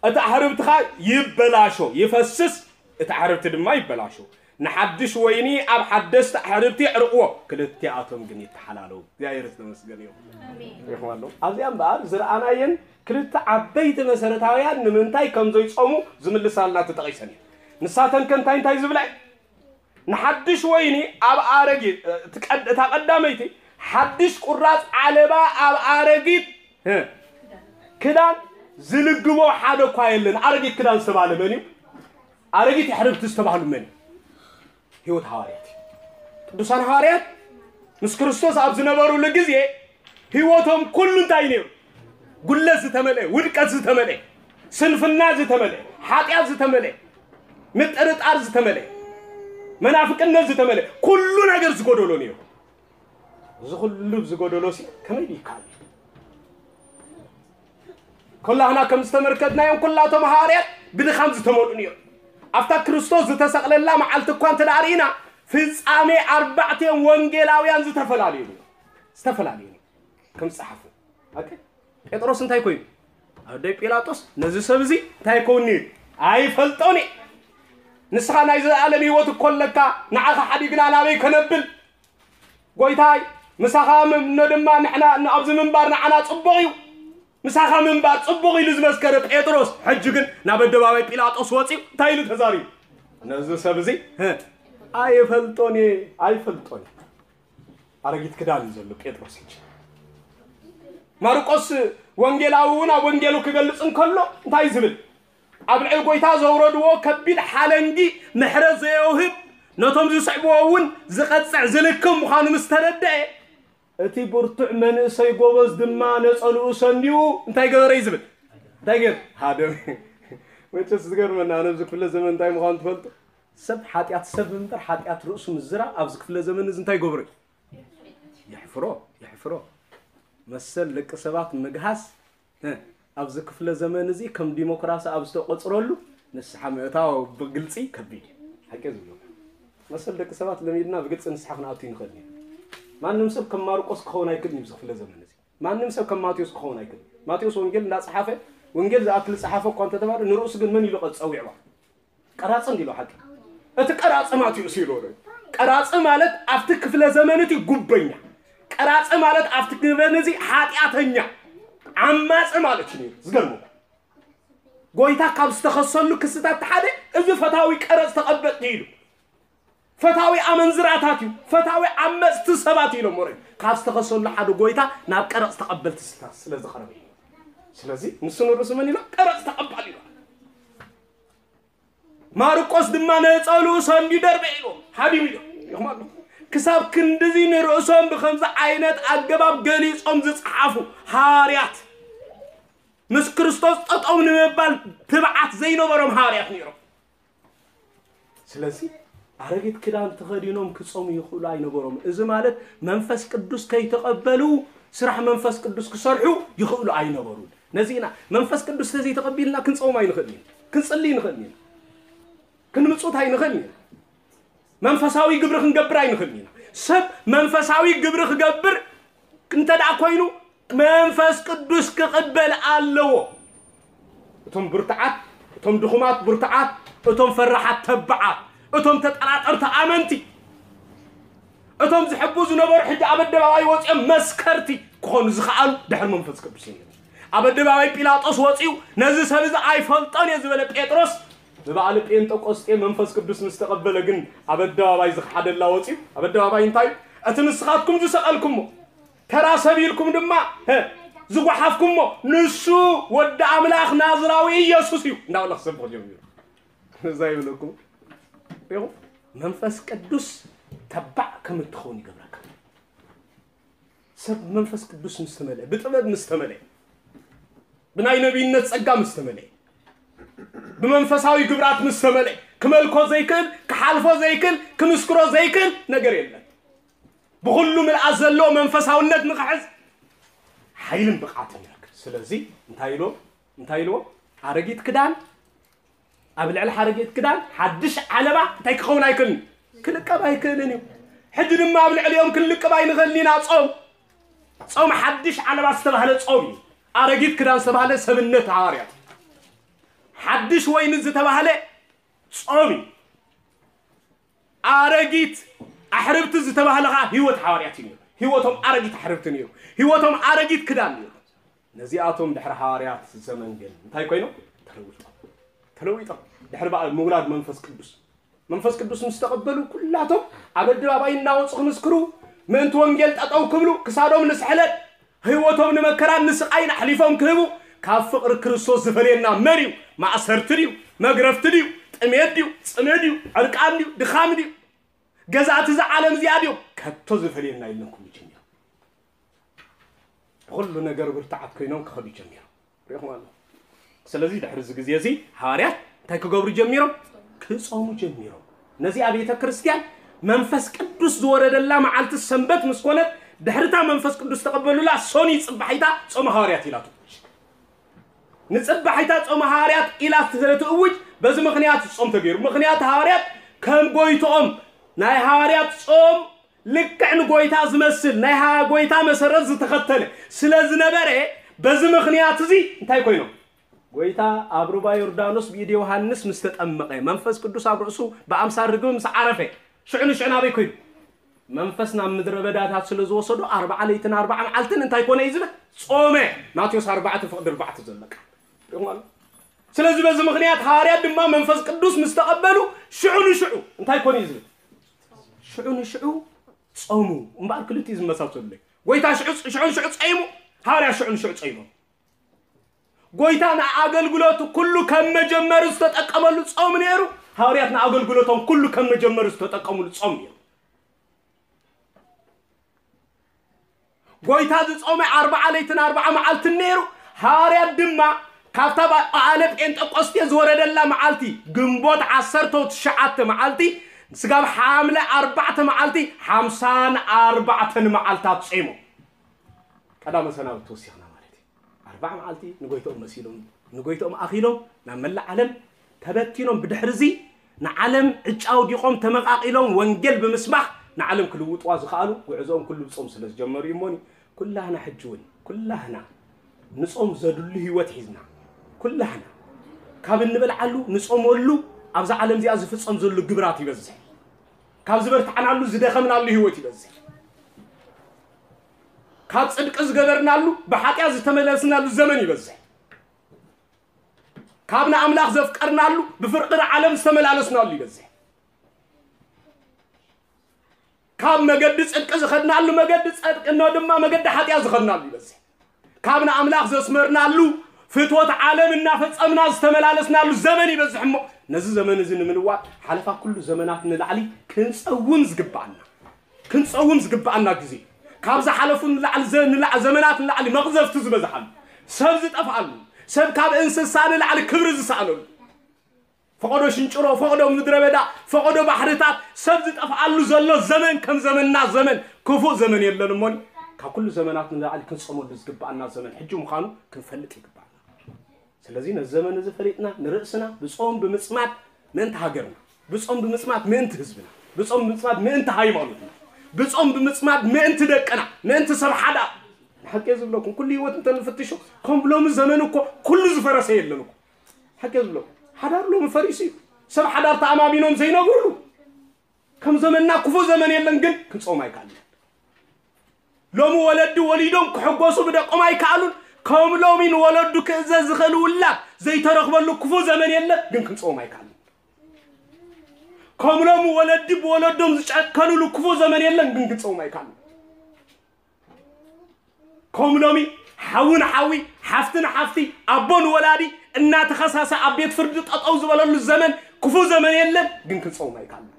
እቲ ኣሕርብትኻ ይበላሾ፣ ይፈስስ፣ እቲ ኣሕርብቲ ድማ ይበላሾ። ንሓድሽ ወይኒ ኣብ ሓደስቲ ኣሕርብቲ ኣዕርቕዎ፣ ክልቲኣቶም ግን ይተሓላለዉ። እግዚኣብሔር ዝተመስገነ ይኹን። ኣሜን። ይኹን ኣሎ። ኣብዚኣ እምበኣር ዝረኣናየን ክልተ ዓበይቲ መሰረታውያን ንምንታይ ከም ዘይጾሙ ዝምልሳልና ተጠቒሰን እየን። ንሳተን ከ እንታይ እንታይ ዝብላ እየን? ንሓድሽ ወይኒ ኣብ ኣረጊት፣ እቲ ቀድ-፣ እታ ቀዳመይቲ ሓድሽ ቁራጽ ዓለባ ኣብ ኣረጊት፣ እ፣ ክዳን ዝልግቦ ሓደ እኳ የለን። ኣረጊት ክዳን ዝተባህለ መን እዩ? ኣረጊት ኣሕርብቲ ዝተባህሉ መን እዩ? ህይወት ሃዋርያት እዩ። ቅዱሳን ሃዋርያት ምስ ክርስቶስ ኣብ ዝነበሩሉ ግዜ ህይወቶም ኩሉ እንታይ ነይሩ? ጉለት ዝተመልአ፣ ውድቀት ዝተመልአ፣ ስንፍና ዝተመልአ፣ ሓጢኣት ዝተመልአ፣ ምጥርጣር ዝተመልአ፣ መናፍቅነት ዝተመልአ፣ ኩሉ ነገር ዝጎደሎ ነይሩ። እዚ ኩሉ ዝጎደሎ ሲ ከመይ ይከኣል? ኩላህና ከም ዝተመልከትናዮም ኩላቶም ሃዋርያት ብድኻም ዝተመልኡ ነይሩ። ኣብታ ክርስቶስ ዝተሰቕለላ መዓልቲ እኳ እንተ ደኣ ርኢና፣ ፍጻሜ ኣርባዕቲኦም ወንጌላውያን ዝተፈላለዩ ነይሩ። ዝተፈላለዩ ነይሩ። ከም ዝጸሓፉ። ኦኬ? ጴጥሮስ እንታይ ኮይኑ? ኣብ ደይ ጲላጦስ ነዚ ሰብ እዚ እንታይ ይከውንኒ? ኣይፈልጦን እየ። ንስኻ ናይ ዘለኣለም ህይወት እኮ ኣለካ፣ ንዓኻ ሓዲግና ናበይ ከነብል? ጎይታይ፣ ምሳኻ ምምኖ ድማ ንሕና፣ ኣብዚ ምንባር ንዓና ጽቡቕ እዩ። ምሳኻ ምንባር ጽቡቕ ኢሉ ዝመስከረ ጴጥሮስ፣ ሕጂ ግን ናብ ኣደባባይ ጲላጦስ ወጺኡ እንታይ ኢሉ ተዛሪቡ? ነዚ ሰብ እዚ፣ ህ፣ ኣይፈልጦን እየ፣ ኣይፈልጦን እየ። ኣረጊት ክዳን እዩ ዘሎ ጴጥሮስ ሕጂ። ማርቆስ ወንጌላዊ እውን ኣብ ወንጌሉ ክገልጽ እንከሎ እንታይ ዝብል? ኣብ ልዕሊ ጎይታ ዘውረድዎ ከቢድ ሓለንጊ ምሕረት ዘየውህብ፣ ነቶም ዝስዕብዎ እውን ዝቐጽዕ ዝልክም ምዃኑ ምስ ተረድአ፣ እቲ ብርቱዕ መንእሰይ ጎበዝ ድማ ነጸልኡ ሰንዲኡ እንታይ ገበረ እዩ ዝብል? እንታይ ገይሩ? ሃደመ። መቸስ ዝገርመና፣ ኣነ ኣብዚ ክፍለ ዘመን እንታይ ምዃኑ ትፈልጡ? ሰብ ሓጢኣት ሰብ እምበር ሓጢኣት ርእሱ ምዝራብ ኣብዚ ክፍለ ዘመን እዚ እንታይ ይገብሮ እዩ? የሕፍሮ፣ የሕፍሮ። መሰል ደቂ ሰባት ምግሃስ፣ እ፣ ኣብዚ ክፍለ ዘመን እዚ ከም ዲሞክራሲ ኣብ ዝተቆጽረሉ ንስሓ ምእታው ብግልጺ ከቢድ እዩ። ሓቂ ዝብሎ። መሰል ደቂ ሰባት ለሚድና ብግልጺ ንስሓ ክንኣቱ ይንኽእል ኢና። ማንም ሰብ ከም ማርቆስ ክኸውን ኣይክእልን እዩ ኣብዚ ክፍለ ዘመን እዚ። ማንም ሰብ ከም ማቴዎስ ክኸውን ኣይክእልን። ማቴዎስ ወንጌል እንዳጸሓፈ፣ ወንጌል ዝኣክል ጸሓፈ እኳ እንተተባለ፣ ንርእሱ ግን መን ኢሉ ቀ-፣ ጸዊዕዋ? ቀራጺ እንዲሉ ሓቂ። እቲ ቀራጺ ማቴዎስ ኢሉ ወረ። ቀራጺ ማለት ኣብቲ ክፍለ ዘመን እቲ ጉበኛ። ቀራጺ ማለት ኣብቲ ክፍለ ዘመን እዚ ሓጢኣተኛ፣ ዓማጺ ማለት እዩ ነይሩ። ዝገርመኩም። ጎይታ ካብ ዝተኸሰሉ ክስታት ሓደ እዚ ፈታዊ ቀረጽ ተቐበልቲ ኢሉ። ፈታዊ ኣመንዝራታት እዩ፣ ፈታዊ ዓመጽቲ ሰባት ኢሎም ወረ። ካብ ዝተኸሰሉ ሓደ ጎይታ ናብ ቀረጽ ተቐበልቲ ስለ፣ ስለ ዝቐረበ እዩ። ስለዚ ንሱ ንርእሱ መን ኢሎ? ቀረጽ ተቐባል ኢሎ። ማርቆስ ድማ ነጸልኡ ሰንዲ ደርበ ኢሎ፣ ሃዲሙ ኢሎ። ይኹም ኣሎ። ክሳብ ክንድዚ ንርእሶም ብኸምዚ ዓይነት ኣገባብ ገሊጾም ዝጸሓፉ ሃዋርያት፣ ምስ ክርስቶስ ጠጠው ንምባል ትብዓት ዘይነበሮም ሃዋርያት ነይሮም። ስለዚ ኣረጊት ክዳን ተኸዲኖም ክጾሙ ይኽእሉ ኣይነበሮም። እዚ ማለት መንፈስ ቅዱስ ከይተቐበሉ ስራሕ መንፈስ ቅዱስ ክሰርሑ ይኽእሉ ኣይነበሩን። ነዚ ኢና መንፈስ ቅዱስ ተዘይተቐቢልና ክንጾም ኣይንኽእልን ኢና፣ ክንጽሊ ይንኽእል ኢና፣ ክንምጹት ኣይንኽእልን ኢና። መንፈሳዊ ግብሪ ክንገብር ኣይንኽእልን ኢና። ሰብ መንፈሳዊ ግብሪ ክገብር እንተ ደኣ ኮይኑ መንፈስ ቅዱስ ክቕበል ኣለዎ። እቶም ብርቱዓት፣ እቶም ድኹማት ብርቱዓት፣ እቶም ፈራሓት ተባዓት፣ እቶም ተጠራጠርቲ ኣመንቲ፣ እቶም ዝሕቡ ዝነበሩ ሕጂ ኣብ ኣደባባይ ወፂኦም መስከርቲ ክኾኑ ዝኸኣሉ ድሕሪ መንፈስ ቅዱስ እዮም። ኣብ ኣደባባይ ጲላጦስ ወፂኡ ነዚ ሰብ እዚ ኣይፈልጦን እየ ዝበለ ጴጥሮስ ብበዓል ጴንጠቆስጤ መንፈስ ቅዱስ ምስ ተቐበለ ግን ኣብ ኣደባባይ ዝኸሓደላ ወፂኡ ኣብ ኣደባባይ እንታይ እቲ ንስኻትኩም ዝሰቐልኩሞ ተራ ሰብ ኢልኩም ድማ፣ ሀ፣ ዝጓሓፍኩሞ ንሱ ወዲ ኣምላኽ ናዝራዊ ኢየሱስ እዩ እንዳበለ ክሰብኽ ጀሚሩ። እዛ ይብለኩም። ሪኹም? መንፈስ ቅዱስ ተባዕ ከም እትኸውን ይገብረካ። ሰብ መንፈስ ቅዱስ ምስ ተመልአ፣ ብጥበብ ምስ ተመልአ፣ ብናይ ነቢይነት ጸጋ ምስ ተመልአ፣ ብመንፈሳዊ ግብራት ምስ ተመልአ ክመልኮ ዘይክእል፣ ክሓልፎ ዘይክእል፣ ክምስክሮ ዘይክእል ነገር የለን። ብኹሉ ምልኣት ዘለዎ መንፈሳውነት ንኽሕዝ ሓይልን ብቕዓትን ይረክብ። ስለዚ እንታይ ኢልዎ? እንታይ ኢልዎ? ኣረጊት ክዳን ኣብ ልዕሊ ሓረጊት ክዳን ሓድሽ ዓለባ እንታይ ክኸውን ኣይክእልን? ክልቀብ ኣይክእልን እዩ። ሕጂ ድማ ኣብ ልዕሊኦም ክንልቅብ ኣይንኽእልን ኢና። ጾም፣ ጾም ሓድሽ ዓለባ ዝተባህለ ጾም እዩ። ኣረጊት ክዳን ዝተባህለ ሰብነት ሃዋርያት፣ ሓድሽ ወይኒ ዝተባህለ ጾም እዩ። ኣረጊት ኣሕርብቲ ዝተባህለ ኸዓ ህይወት ሃዋርያት እዩ ነይሩ። ህይወቶም ኣረጊት ኣሕርብቲ ነይሩ። ህይወቶም ኣረጊት ክዳን ነይሩ። ነዚኣቶም ድሕሪ ሃዋርያት ዘመን ግን እንታይ ኮይኖም? ተለዊጦም። ተለዊጦም። ድሕሪ በዓል ምውላድ መንፈስ ቅዱስ፣ መንፈስ ቅዱስ ምስ ተቐበሉ ኩላቶም ኣብ ኣደባባይ እናወፁ ክምስክሩ፣ ምእንቲ ወንጌል ጠጠው ክብሉ፣ ክሳዶም ንስሕለት፣ ህይወቶም ንመከራን ንስቓይን ኣሕሊፎም ክህቡ፣ ካብ ፍቕሪ ክርስቶስ ዝፈልየና መን እዩ? ማእሰርቲ ድዩ? መግረፍቲ ድዩ? ጥሜት ድዩ? ጽምእ ድዩ? ዕርቃን ድዩ? ድኻም ድዩ? ገዛእቲ እዛ ዓለም እዚኣ ድዮም? ከቶ ዝፈልየና የለን። ኩሉ ጀሚሮም፣ ብኹሉ ነገር ብርታዓት ኮይኖም ክኸዱ ጀሚሮም። ሪኢኹም ኣሎ። ስለዚ ድሕሪ እዚ ግዜ እዚ ሃዋርያት እንታይ ክገብሩ ጀሚሮም? ክጾሙ ጀሚሮም። ነዚኣ ቤተ ክርስቲያን መንፈስ ቅዱስ ዝወረደላ መዓልቲ ሰንበት ምስ ኮነት፣ ድሕሪታ መንፈስ ቅዱስ ተቐበሉላ ሶኒ ጽባሒታ ጾመ ሃዋርያት ኢላ ትእውጅ። ንጽባሒታ ጾመ ሃዋርያት ኢላ ስለ ትእውጅ፣ በዚ ምኽንያት ጾም ተገይሩ። ምኽንያት ሃዋርያት ከም ጎይትኦም ናይ ሃዋርያት ጾም ልክዕ ንጎይታ ዝመስል ናይ ሃ-፣ ጎይታ መሰረት ዝተኸተለ ስለ ዝነበረ፣ በዚ ምኽንያት እዚ እንታይ ኮይኖም? ጎይታ ኣብ ሩባ ዮርዳኖስ ብኢድ ዮሃንስ ምስ ተጠመቐ፣ መንፈስ ቅዱስ ኣብ ርእሱ ብኣምሳል ርግቢ ምስ ዓረፈ፣ ሽዑ ንሽዑ ናበይ ኮይኑ? መንፈስ ናብ ምድረ በዳታት ስለ ዝወሰዶ፣ ኣርባዓ ለይትን ኣርባዓ መዓልትን እንታይ ኮነ እዩ ዝብል? ጾመ። ማቴዎስ ኣርባዕተ ፍቕዲ ኣርባዕተ ዘሎ ቃል። ሪእኹም ኣሎ? ስለዚ በዚ ምኽንያት ሃዋርያት ድማ መንፈስ ቅዱስ ምስ ተቐበሉ፣ ሽዑ ንሽዑ እንታይ ኮነ እዩ ዝብል? ሽዑ ንሽዑ ጾሙ። እምበኣር ክልቲኡ ዝመሳሰሉ። ጎይታ ሽዑ፣ ሽዑ ንሽዑ ጸይሙ፣ ሃዋርያት ሽዑ ንሽዑ ጸይሞም። ጎይታ ንኣገልግሎቱ ኩሉ ከም መጀመሪ ዝተጠቀመሉ ጾም ነይሩ። ሃዋርያት ንኣገልግሎቶም ኩሉ ከም መጀመሪ ዝተጠቀሙሉ ጾም ነይሩ። ጎይታ ዝጾመ ኣርባዓ ለይትን ኣርባዓ መዓልትን ነይሩ። ሃዋርያት ድማ ካብታ ባ-፣ በዓለ ጴንጠቆስቴ ዝወረደላ መዓልቲ፣ ግንቦት ዓሰርተ ትሽዓተ መዓልቲ፣ ስጋብ ሓምለ ኣርባዕተ መዓልቲ፣ ሓምሳን ኣርባዕተን መዓልታት ጾይሞም። ቀዳመ ሰናብቲ ወሲኽና ማለት እዩ። ኣርባዓ መዓልቲ ንጎይትኦም መሲሎም፣ ንጎይትኦም ኣኺሎም ናብ መላእ ዓለም ተበቲኖም። ብድሕሪ እዚ ንዓለም ዕጫ ኣውዲቖም ተመቓቒሎም ወንጌል ብምስባኽ ንዓለም ክልውጥዋ ዝኸኣሉ ጉዕዞኦም ኩሉ ብጾም ስለ ዝጀመሩ እዩ እሞኒ። ኩላህና ሕጂ እውን፣ ኩላህና ንጾም ዘድሉ ህይወት ሒዝና፣ ኩላህና ካብ እንበልዓሉ ንጾመሉ ኣብዛ ዓለም እዚኣ ዝፍጸም ዘሎ ግብራት ይበዝሕ። ካብ ዝበርትዓናሉ ዝደኸምናሉ ህይወት ይበዝሕ። ካብ ጽድቂ ዝገበርናሉ ብሓጢኣት ዝተመለስናሉ ዘመን ይበዝሕ። ካብ ንኣምላኽ ዘፍቀርናሉ ብፍርቂ ዓለም ዝተመላለስናሉ ይበዝሕ። ካብ መገዲ ጽድቂ ዝኸድናሉ መገዲ ጽድቂ እኖ ድማ መገዲ ሓጢኣት ዝኸድናሉ ይበዝሕ። ካብ ንኣምላኽ ዘስመርናሉ ፍትወት ዓለም እናፈጸምና ዝተመላለስናሉ ዘመን ይበዝሕ እሞ፣ ነዚ ዘመን እዚ ንምልዋጥ ሓለፋ ኩሉ ዘመናት ንላዕሊ ክንጸውም ዝግብኣና፣ ክንጸውም ዝግብኣና ግዜ፣ ካብ ዝሓለፉ ንላዕሊ ዘ-፣ ንላዕ-፣ ዘመናት ንላዕሊ መቕዘፍቲ ዝበዝሓሉ፣ ሰብ ዝጠፍኣሉ፣ ሰብ ካብ እንስሳ ንላዕሊ ክብሪ ዝሰኣነሉ፣ ፈቐዶ ሽንጭሮ፣ ፈቐዶ ምድረ በዳ፣ ፈቐዶ ባሕርታት፣ ሰብ ዝጠፍኣሉ ዘሎ ዘመን ከም ዘመንና ዘመን ክፉእ ዘመን የለን እሞኒ፣ ካብ ኩሉ ዘመናት ንላዕሊ ክንጸመሉ ዝግብኣና ዘመን ሕጂ ምዃኑ ክንፈልጥ ይግብኣና። ስለዚ ነዚ ዘመን እዚ ፈሊጥና ንርእስና ብጾም ብምጽማድ ምእንቲ ሃገርና፣ ብጾም ብምጽማድ ምእንቲ ህዝብና፣ ብጾም ብምጽማድ ምእንቲ ሃይማኖትና፣ ብጾም ብምጽማድ ምእንቲ ደቅና፣ ምእንቲ ሰብ ሓዳር። ንሓቂ እየ ዝብለኩም፣ ኩሉ ህይወት እንተንፍትሾ፣ ከም ሎሚ ዘመን እኮ ኩሉ ዝፈረሰ የለን እኮ። ሓቂ እየ ዝብለኩም፣ ሓዳር ሎሚ ፈሪሱ እዩ። ሰብ ሓዳር ተኣማሚኖም ዘይነብሩሉ። ከም ዘመንና ክፉእ ዘመን የለን፣ ግን ክንጾም ኣይከኣልን። ሎሚ ወለዲ ወሊዶም ክሕጎሱ ብደቆም ኣይከኣሉን። ከም ሎሚ ንወለዱ ክእዘዝ ዝኽእል ውላድ ዘይተረኽበሉ ክፉእ ዘመን የለን፣ ግን ክንጾም ኣይከኣልን። ከም ሎሚ ወለዲ ብወለዶም ዝጨከኑሉ ክፉእ ዘመን የለን፣ ግን ክንጾም ኣይከኣልን። ከም ሎሚ ሓዊ ንሓዊ፣ ሓፍቲ ንሓፍቲ፣ ኣቦ ንወላዲ እናተኸሳሰ ኣብ ቤት ፍርዲ ጠጠው ዝበለሉ ዘመን ክፉእ ዘመን የለን፣ ግን ክንጸውም ኣይከኣልን።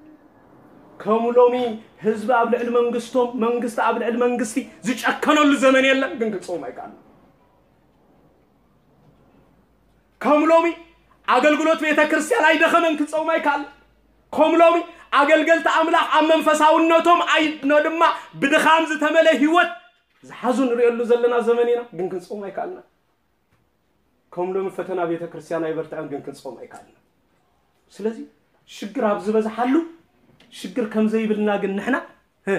ከም ሎሚ ህዝቢ ኣብ ልዕሊ መንግስቶም፣ መንግስቲ ኣብ ልዕሊ መንግስቲ ዝጨከነሉ ዘመን የለን፣ ግን ክንጸውም ኣይከኣልን። ከም ሎሚ ኣገልግሎት ቤተ ክርስቲያን ኣይደኸመን፣ ክጸውም ኣይከኣልን። ከም ሎሚ ኣገልገልቲ ኣምላኽ ኣብ መንፈሳውነቶም ኣይኖ ድማ ብድኻም ዝተመለ ህይወት ዝሓዙ ንርእየሉ ዘለና ዘመን ኢና፣ ግን ክንጸውም ኣይከኣልና። ከም ሎሚ ፈተና ቤተ ክርስቲያን ኣይበርትዐን፣ ግን ክንጸውም ኣይከኣልና። ስለዚ ሽግር ኣብ ዝበዝሓሉ ሽግር ከም ዘይብልና ግን ንሕና፣ ህ፣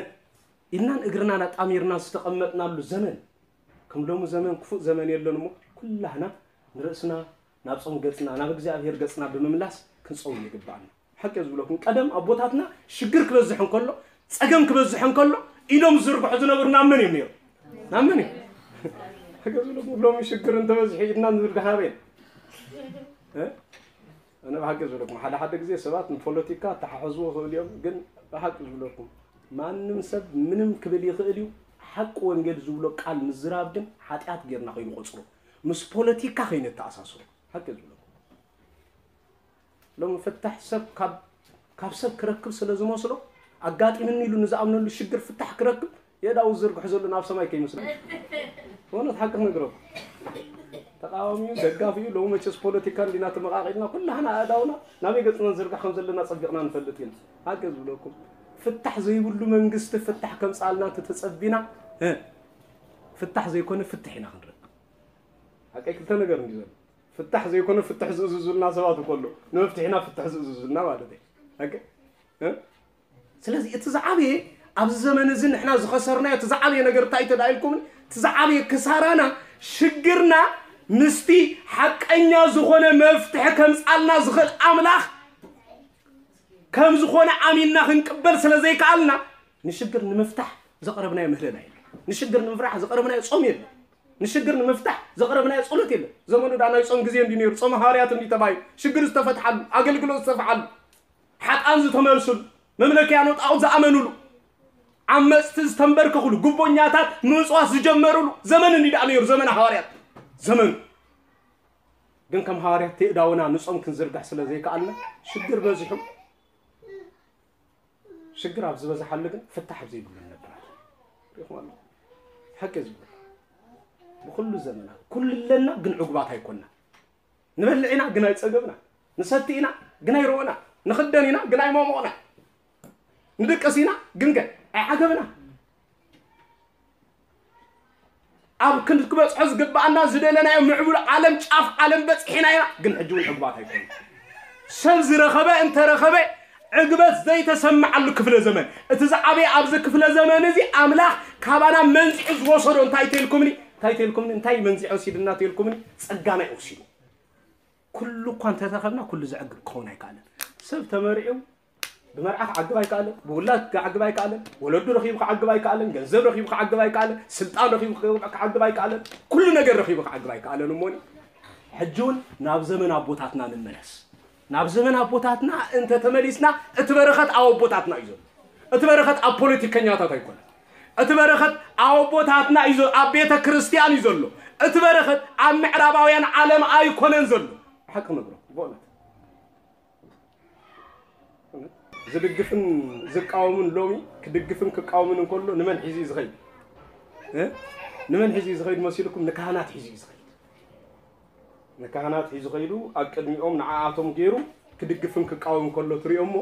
ኢድናን እግርናን ኣጣሚርና ዝተቐመጥናሉ ዘመን፣ ከም ሎሚ ዘመን ክፉእ ዘመን የለን እሞ፣ ኩላህና ንርእስና ናብ ጾም ገጽና፣ ናብ እግዚኣብሔር ገጽና ብምምላስ ክንጸውም ይግባኣና። ሓቂ እየ ዝብለኩም፣ ቀደም ኣቦታትና ሽግር ክበዝሕ እንከሎ፣ ጸገም ክበዝሕ እንከሎ፣ ኢዶም ዝዝርግሑ ዝነበሩ ናብ መን እዮም ነይሮም? ናብ መን እዮም? ሓቂ እየ ዝብለኩም፣ ሎሚ ሽግር እንተበዝሑ ኢድና ንዝርግሕ ኣበይ? እ? ኣነ ብሓቂ ዝብለኩም፣ ሓደ ሓደ ግዜ ሰባት ንፖለቲካ ኣተሓሕዝዎ ይኽእሉ እዮም፣ ግን ብሓቂ ዝብለኩም፣ ማንም ሰብ ምንም ክብል ይኽእል እዩ። ሓቂ ወንጌል ዝብሎ ቃል ምዝራብ ግን ሓጢኣት ጌርና ከይንቆጽሮ፣ ምስ ፖለቲካ ከይነተኣሳስሮ። ሓቂ ዝብለኩም፣ ሎም ፍታሕ ሰብ ካብ፣ ካብ ሰብ ክረክብ ስለ ዝመስሎ፣ ኣጋጢምኒ ኢሉ ንዝኣምነሉ ሽግር ፍታሕ ክረክብ የእዳው ዝርግሑ ዘሎ ናብ ሰማይ ከይመስሎ። እውነት ሓቂ ክነግረኩም፣ ተቃዋሚኡ ደጋፊኡ ሎም መቸስ ፖለቲካ እንዲና ተመቃቂልና፣ ኩላህና ኣእዳውና ናበይ ገጽና ንዝርግሕ ከም ዘለና ጸቢቕና ንፈልጥ ኢና። ሓቂ ዝብለኩም፣ ፍታሕ ዘይብሉ መንግስቲ ፍታሕ ከምጻልና እንተተጸቢና፣ እ፣ ፍታሕ ዘይኮነ ፍትሕ ኢና ክንረክብ። ሓቀይ ክልተ ነገር እንዲ ዘሎ፣ ፍታሕ ዘይኮነ ፍትሕ ዝእዝዙልና ሰባት እኮ ኣሎ። ንመፍትሒና ፍትሕ ዝእዝዙልና ማለት እዩ። ሓቂ፣ እ? ስለዚ እቲ ዝዓበየ ኣብዚ ዘመን እዚ ንሕና ዝኸሰርናዮ እቲ ዝዓበየ ነገር እንታይ ተዳኢልኩም? እቲ ዝዓበየ ክሳራና፣ ሽግርና ምስቲ ሓቀኛ ዝኾነ መፍትሒ ከምጻልና ዝኽእል ኣምላኽ ከም ዝኾነ ኣሚንና ክንቅበል ስለ ዘይከኣልና፣ ንሽግር ንምፍታሕ ዘቕረብናዮ ምህለላ የለን። ንሽግር ንምፍራሕ ዘቕረብናዮ ጾም የለን። ንሽግር ንምፍታሕ ዘቕረብናዮ ጸሎት የለን። ዘመኑ ዳ ናይ ጾም ግዜ እንዲ ነይሩ፣ ጾም ሃዋርያት እንዲ ተባሂሉ፣ ሽግር ዝተፈትሓሉ፣ ኣገልግሎት ዝተፈሓሉ፣ ሓጣን ዝተመልሱሉ፣ መምለኪያኖ ጣዖት ዝኣመኑሉ፣ ዓመጽቲ ዝተንበርከኹሉ፣ ጉቦኛታት ምጽዋት ዝጀመሩሉ ዘመን እንዲ ደኣ ነይሩ፣ ዘመን ሃዋርያት ዘመኑ። ግን ከም ሃዋርያት ተእዳውና ንጾም ክንዝርግሕ ስለ ዘይከኣልና ሽግር በዚሑ። ሽግር ኣብ ዝበዝሓሉ ግን ፍታሕ ኣብ ዘይብሉ ነብራት። ሪኹም ኣለኹም። ሓቂ ዝብል ብኩሉ ዘመና ኩሉ ኣለና፣ ግን ዕጉባት ኣይኮና። ንበልዕ ኢና፣ ግን ኣይጸገብና። ንሰቲ ኢና፣ ግን ኣይረወና። ንኽደን ኢና፣ ግን ኣይመሞቕና። ንድቅስ ኢና፣ ግን ከ ኣይዓገብና። ኣብ ክንክበጽሖ ዝግብኣና ዝደለናዮ ምዕቡል ዓለም፣ ጫፍ ዓለም በጺሕና ኢና፣ ግን ሕጂ እውን ዕጉባት ኣይኮኑ። ሰብ ዝረኸበ እንተረኸበ ዕግበት ዘይተሰምዓሉ ክፍለ ዘመን። እቲ ዝዓበየ ኣብዚ ክፍለ ዘመን እዚ ኣምላኽ ካባና መንዚዑ ዝወሰዶ እንታይ ተልኩምኒ? እንታይ ተልኩምኒ? እንታይ መንዚዑ ወሲድና ተልኩምኒ? ጸጋና እዩ ወሲዱ። ኩሉ እኳ እንተተኸብና ኩሉ ዘዕግብ ክኸውን ኣይከኣልን። ሰብ ተመሪዑ ብመርዓ ክዓግብ ኣይከኣልን፣ ብውላድ ክዓግብ ኣይከኣልን፣ ወለዱ ረኺቡ ክዓግብ ኣይከኣልን፣ ገንዘብ ረኺቡ ክዓግብ ኣይከኣልን፣ ስልጣን ረኺቡ ክዓግብ ኣይከኣልን፣ ኩሉ ነገር ረኺቡ ክዓግብ ኣይከኣልን። እሞኒ ሕጂ እውን ናብ ዘመን ኣቦታትና ንመለስ። ናብ ዘመን ኣቦታትና እንተተመሊስና እቲ በረኸት ኣብ ኣቦታትና እዩ ዘሎ። እቲ በረኸት ኣብ ፖለቲከኛታት ኣይኮነን። እቲ በረኸት ኣብ ኣቦታትና እዩ ዘሎ፣ ኣብ ቤተ ክርስቲያን እዩ ዘሎ። እቲ በረኸት ኣብ ምዕራባውያን ዓለም ኣይኮነን ዘሎ። ሓቂ ነግሮ ብእውነት ዝድግፍን ዝቃወምን ሎሚ ክድግፍን ክቃወምን እንከሎ ንመን ሒዙ እዩ ዝኸይድ? እ? ንመን ሒዙ እዩ ዝኸይድ መሲልኩም? ንካህናት ሒዙ እዩ ዝኸይድ። ንካህናት ሒዙ ኸይዱ ኣብ ቅድሚኦም ንዓኣቶም ገይሩ ክድግፍን ክቃወም ከሎ ትሪኦ እሞ፣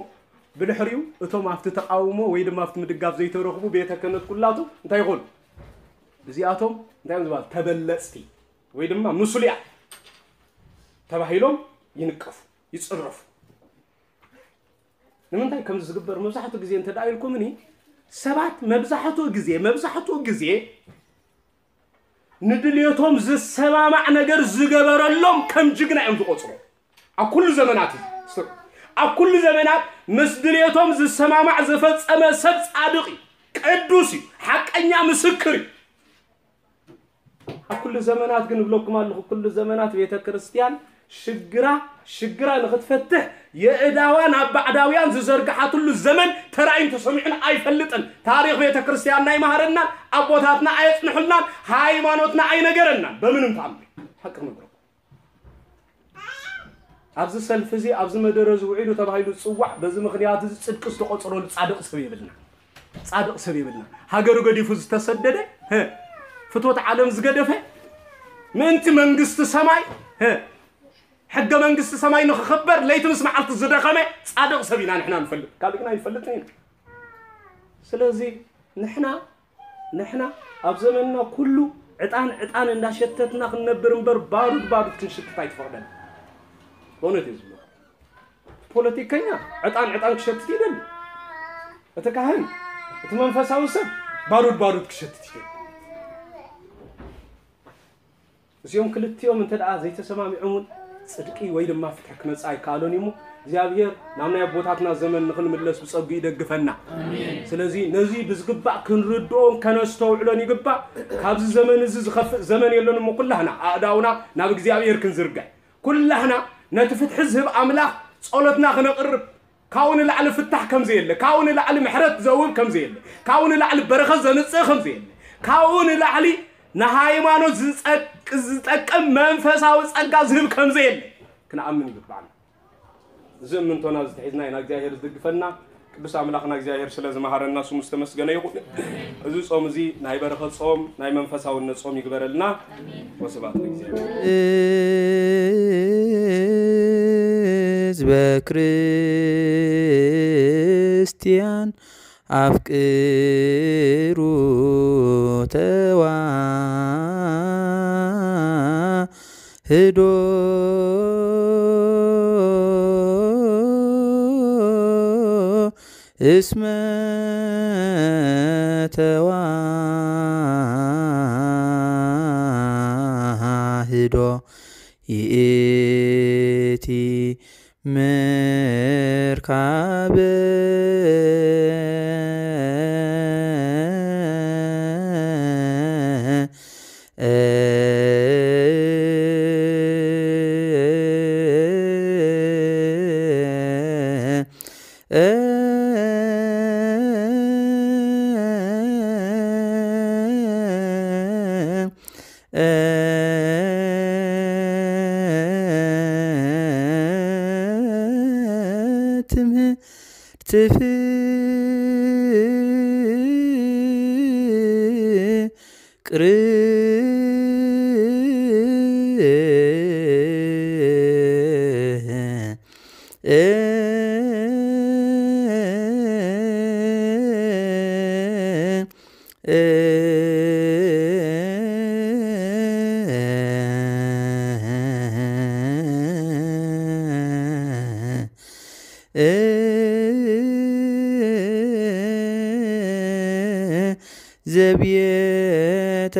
ብድሕሪኡ እቶም ኣብቲ ተቃውሞ ወይ ድማ ኣብቲ ምድጋፍ ዘይተረኽቡ ቤተ ክህነት ኩላቱ እንታይ ይኾኑ? እዚኣቶም እንታይ እዮም ዝበሃል? ተበለጽቲ ወይ ድማ ምስሉያ ተባሂሎም ይንቀፉ፣ ይጽረፉ። ንምንታይ ከምዚ ዝግበር መብዛሕትኡ ግዜ እንተ ደኣ ኢልኩምኒ፣ ሰባት መብዛሕትኡ ግዜ፣ መብዛሕትኡ ግዜ ንድልየቶም ዝሰማማዕ ነገር ዝገበረሎም ከም ጅግና እዮም ዝቆጽሩ። ኣብ ኩሉ ዘመናት እዩ። ኣብ ኩሉ ዘመናት ምስ ድልየቶም ዝሰማማዕ ዝፈጸመ ሰብ ጻድቕ እዩ፣ ቅዱስ እዩ፣ ሓቀኛ ምስክር እዩ። ኣብ ኩሉ ዘመናት ግን እብለኩም ኣለኹ፣ ኩሉ ዘመናት ቤተ ክርስቲያን ሽግራ፣ ሽግራ ንኽትፈትሕ የእዳዋ ናብ ባዕዳውያን ዝዘርግሓትሉ ዘመን ተራእዩን ተሰሚዑን ኣይፈልጥን። ታሪኽ ቤተ ክርስቲያንና ኣይመሃረናን፣ ኣቦታትና ኣየጽንሑልናን፣ ሃይማኖትና ኣይነገረናን። በምንም ተኣምር ሓቂ ክነግረኩም። ኣብዚ ሰልፊ እዚ፣ ኣብዚ መደረ እዚ ውዒሉ ተባሂሉ ዝጽዋዕ፣ በዚ ምኽንያት እዚ ጽድቂ ዝተቖጸረሉ ጻድቕ ሰብ የብልና። ጻድቕ ሰብ የብልና። ሃገሩ ገዲፉ ዝተሰደደ፣ ህ፣ ፍትወት ዓለም ዝገደፈ፣ ምእንቲ መንግስቲ ሰማይ፣ ህ፣ ሕገ መንግስቲ ሰማይ ንኽኽበር ለይቲ ምስ መዓልቲ ዝደኸመ ጻድቕ ሰብ ኢና ንሕና ንፈልጥ፣ ካልእ ግን ኣይንፈልጥን ኢና። ስለዚ ንሕና ንሕና ኣብ ዘመንና ኩሉ ዕጣን ዕጣን እንዳሸተትና ክንነብር እምበር ባሩድ ባሩድ ክንሽትት ኣይትፈቕደን። በእውነት እዩ ዝብሎ። ፖለቲከኛ ዕጣን ዕጣን ክሸትት ይደሊ። እቲ ካህን፣ እቲ መንፈሳዊ ሰብ ባሩድ ባሩድ ክሸትት ይደሊ። እዚኦም ክልቲኦም እንተ ደኣ ዘይተሰማሚዖም እውን ጽድቂ ወይ ድማ ፍትሒ ክመጽእ ኣይከኣሎን እዩ እሞ እግዚኣብሔር ናብ ናይ ኣቦታትና ዘመን ንኽንምለስ ብጸጉ ይደግፈና። ስለዚ ነዚ ብዝግባእ ክንርድኦን ከነስተውዕሎን ይግባእ። ካብዚ ዘመን እዚ ዝኸፍእ ዘመን የሎን እሞ ኩላህና ኣእዳውና ናብ እግዚኣብሔር ክንዝርግሕ፣ ኩላህና ነቲ ፍትሒ ዝህብ ኣምላኽ ጸሎትና ክነቕርብ፣ ካብኡ ንላዕሊ ፍታሕ ከም ዘየለ፣ ካብኡ ንላዕሊ ምሕረት ዘውህብ ከም ዘየለ፣ ካብኡ ንላዕሊ በረኸት ዘምጽእ ከም ዘየለ፣ ካብኡ ንላዕሊ ንሃይማኖት ዝጸቅ-፣ ዝጠቅም መንፈሳዊ ጸጋ ዝህብ ከም ዘየለ ክንኣምን ይግባዕና። እዚ እምንቶና እዚ ተሒዝና ኢና እግዚኣብሔር ዝድግፈና። ቅዱስ ኣምላኽና እግዚኣብሔር ስለ ዝመሃረና ስሙ ዝተመስገነ ይኹን። እዚ ጾም እዚ ናይ በረኸት ጾም፣ ናይ መንፈሳውነት ጾም ይግበረልና። ወስብሐት ለእግዚኣብሔር። ህዝበ ክርስቲያን ኣፍቅሩ ተዋህዶ እስመ ተዋህዶ ይእቲ ምርካብ ትምህርት ፍቅር ዘቤተ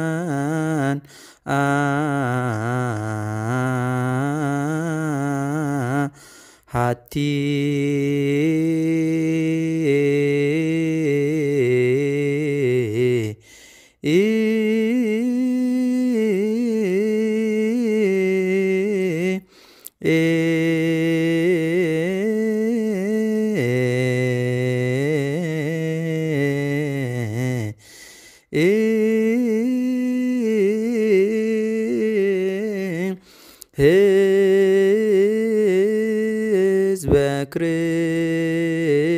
ክርስቲያን ሃቲ ህዝበ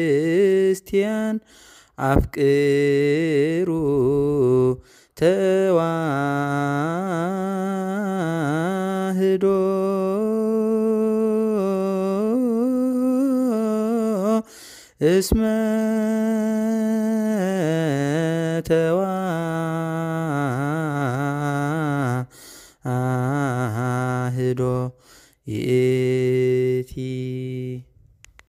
ክርስቲያን ኣፍቅሩ ተዋህዶ እስመ ተዋህዶ ይእቲ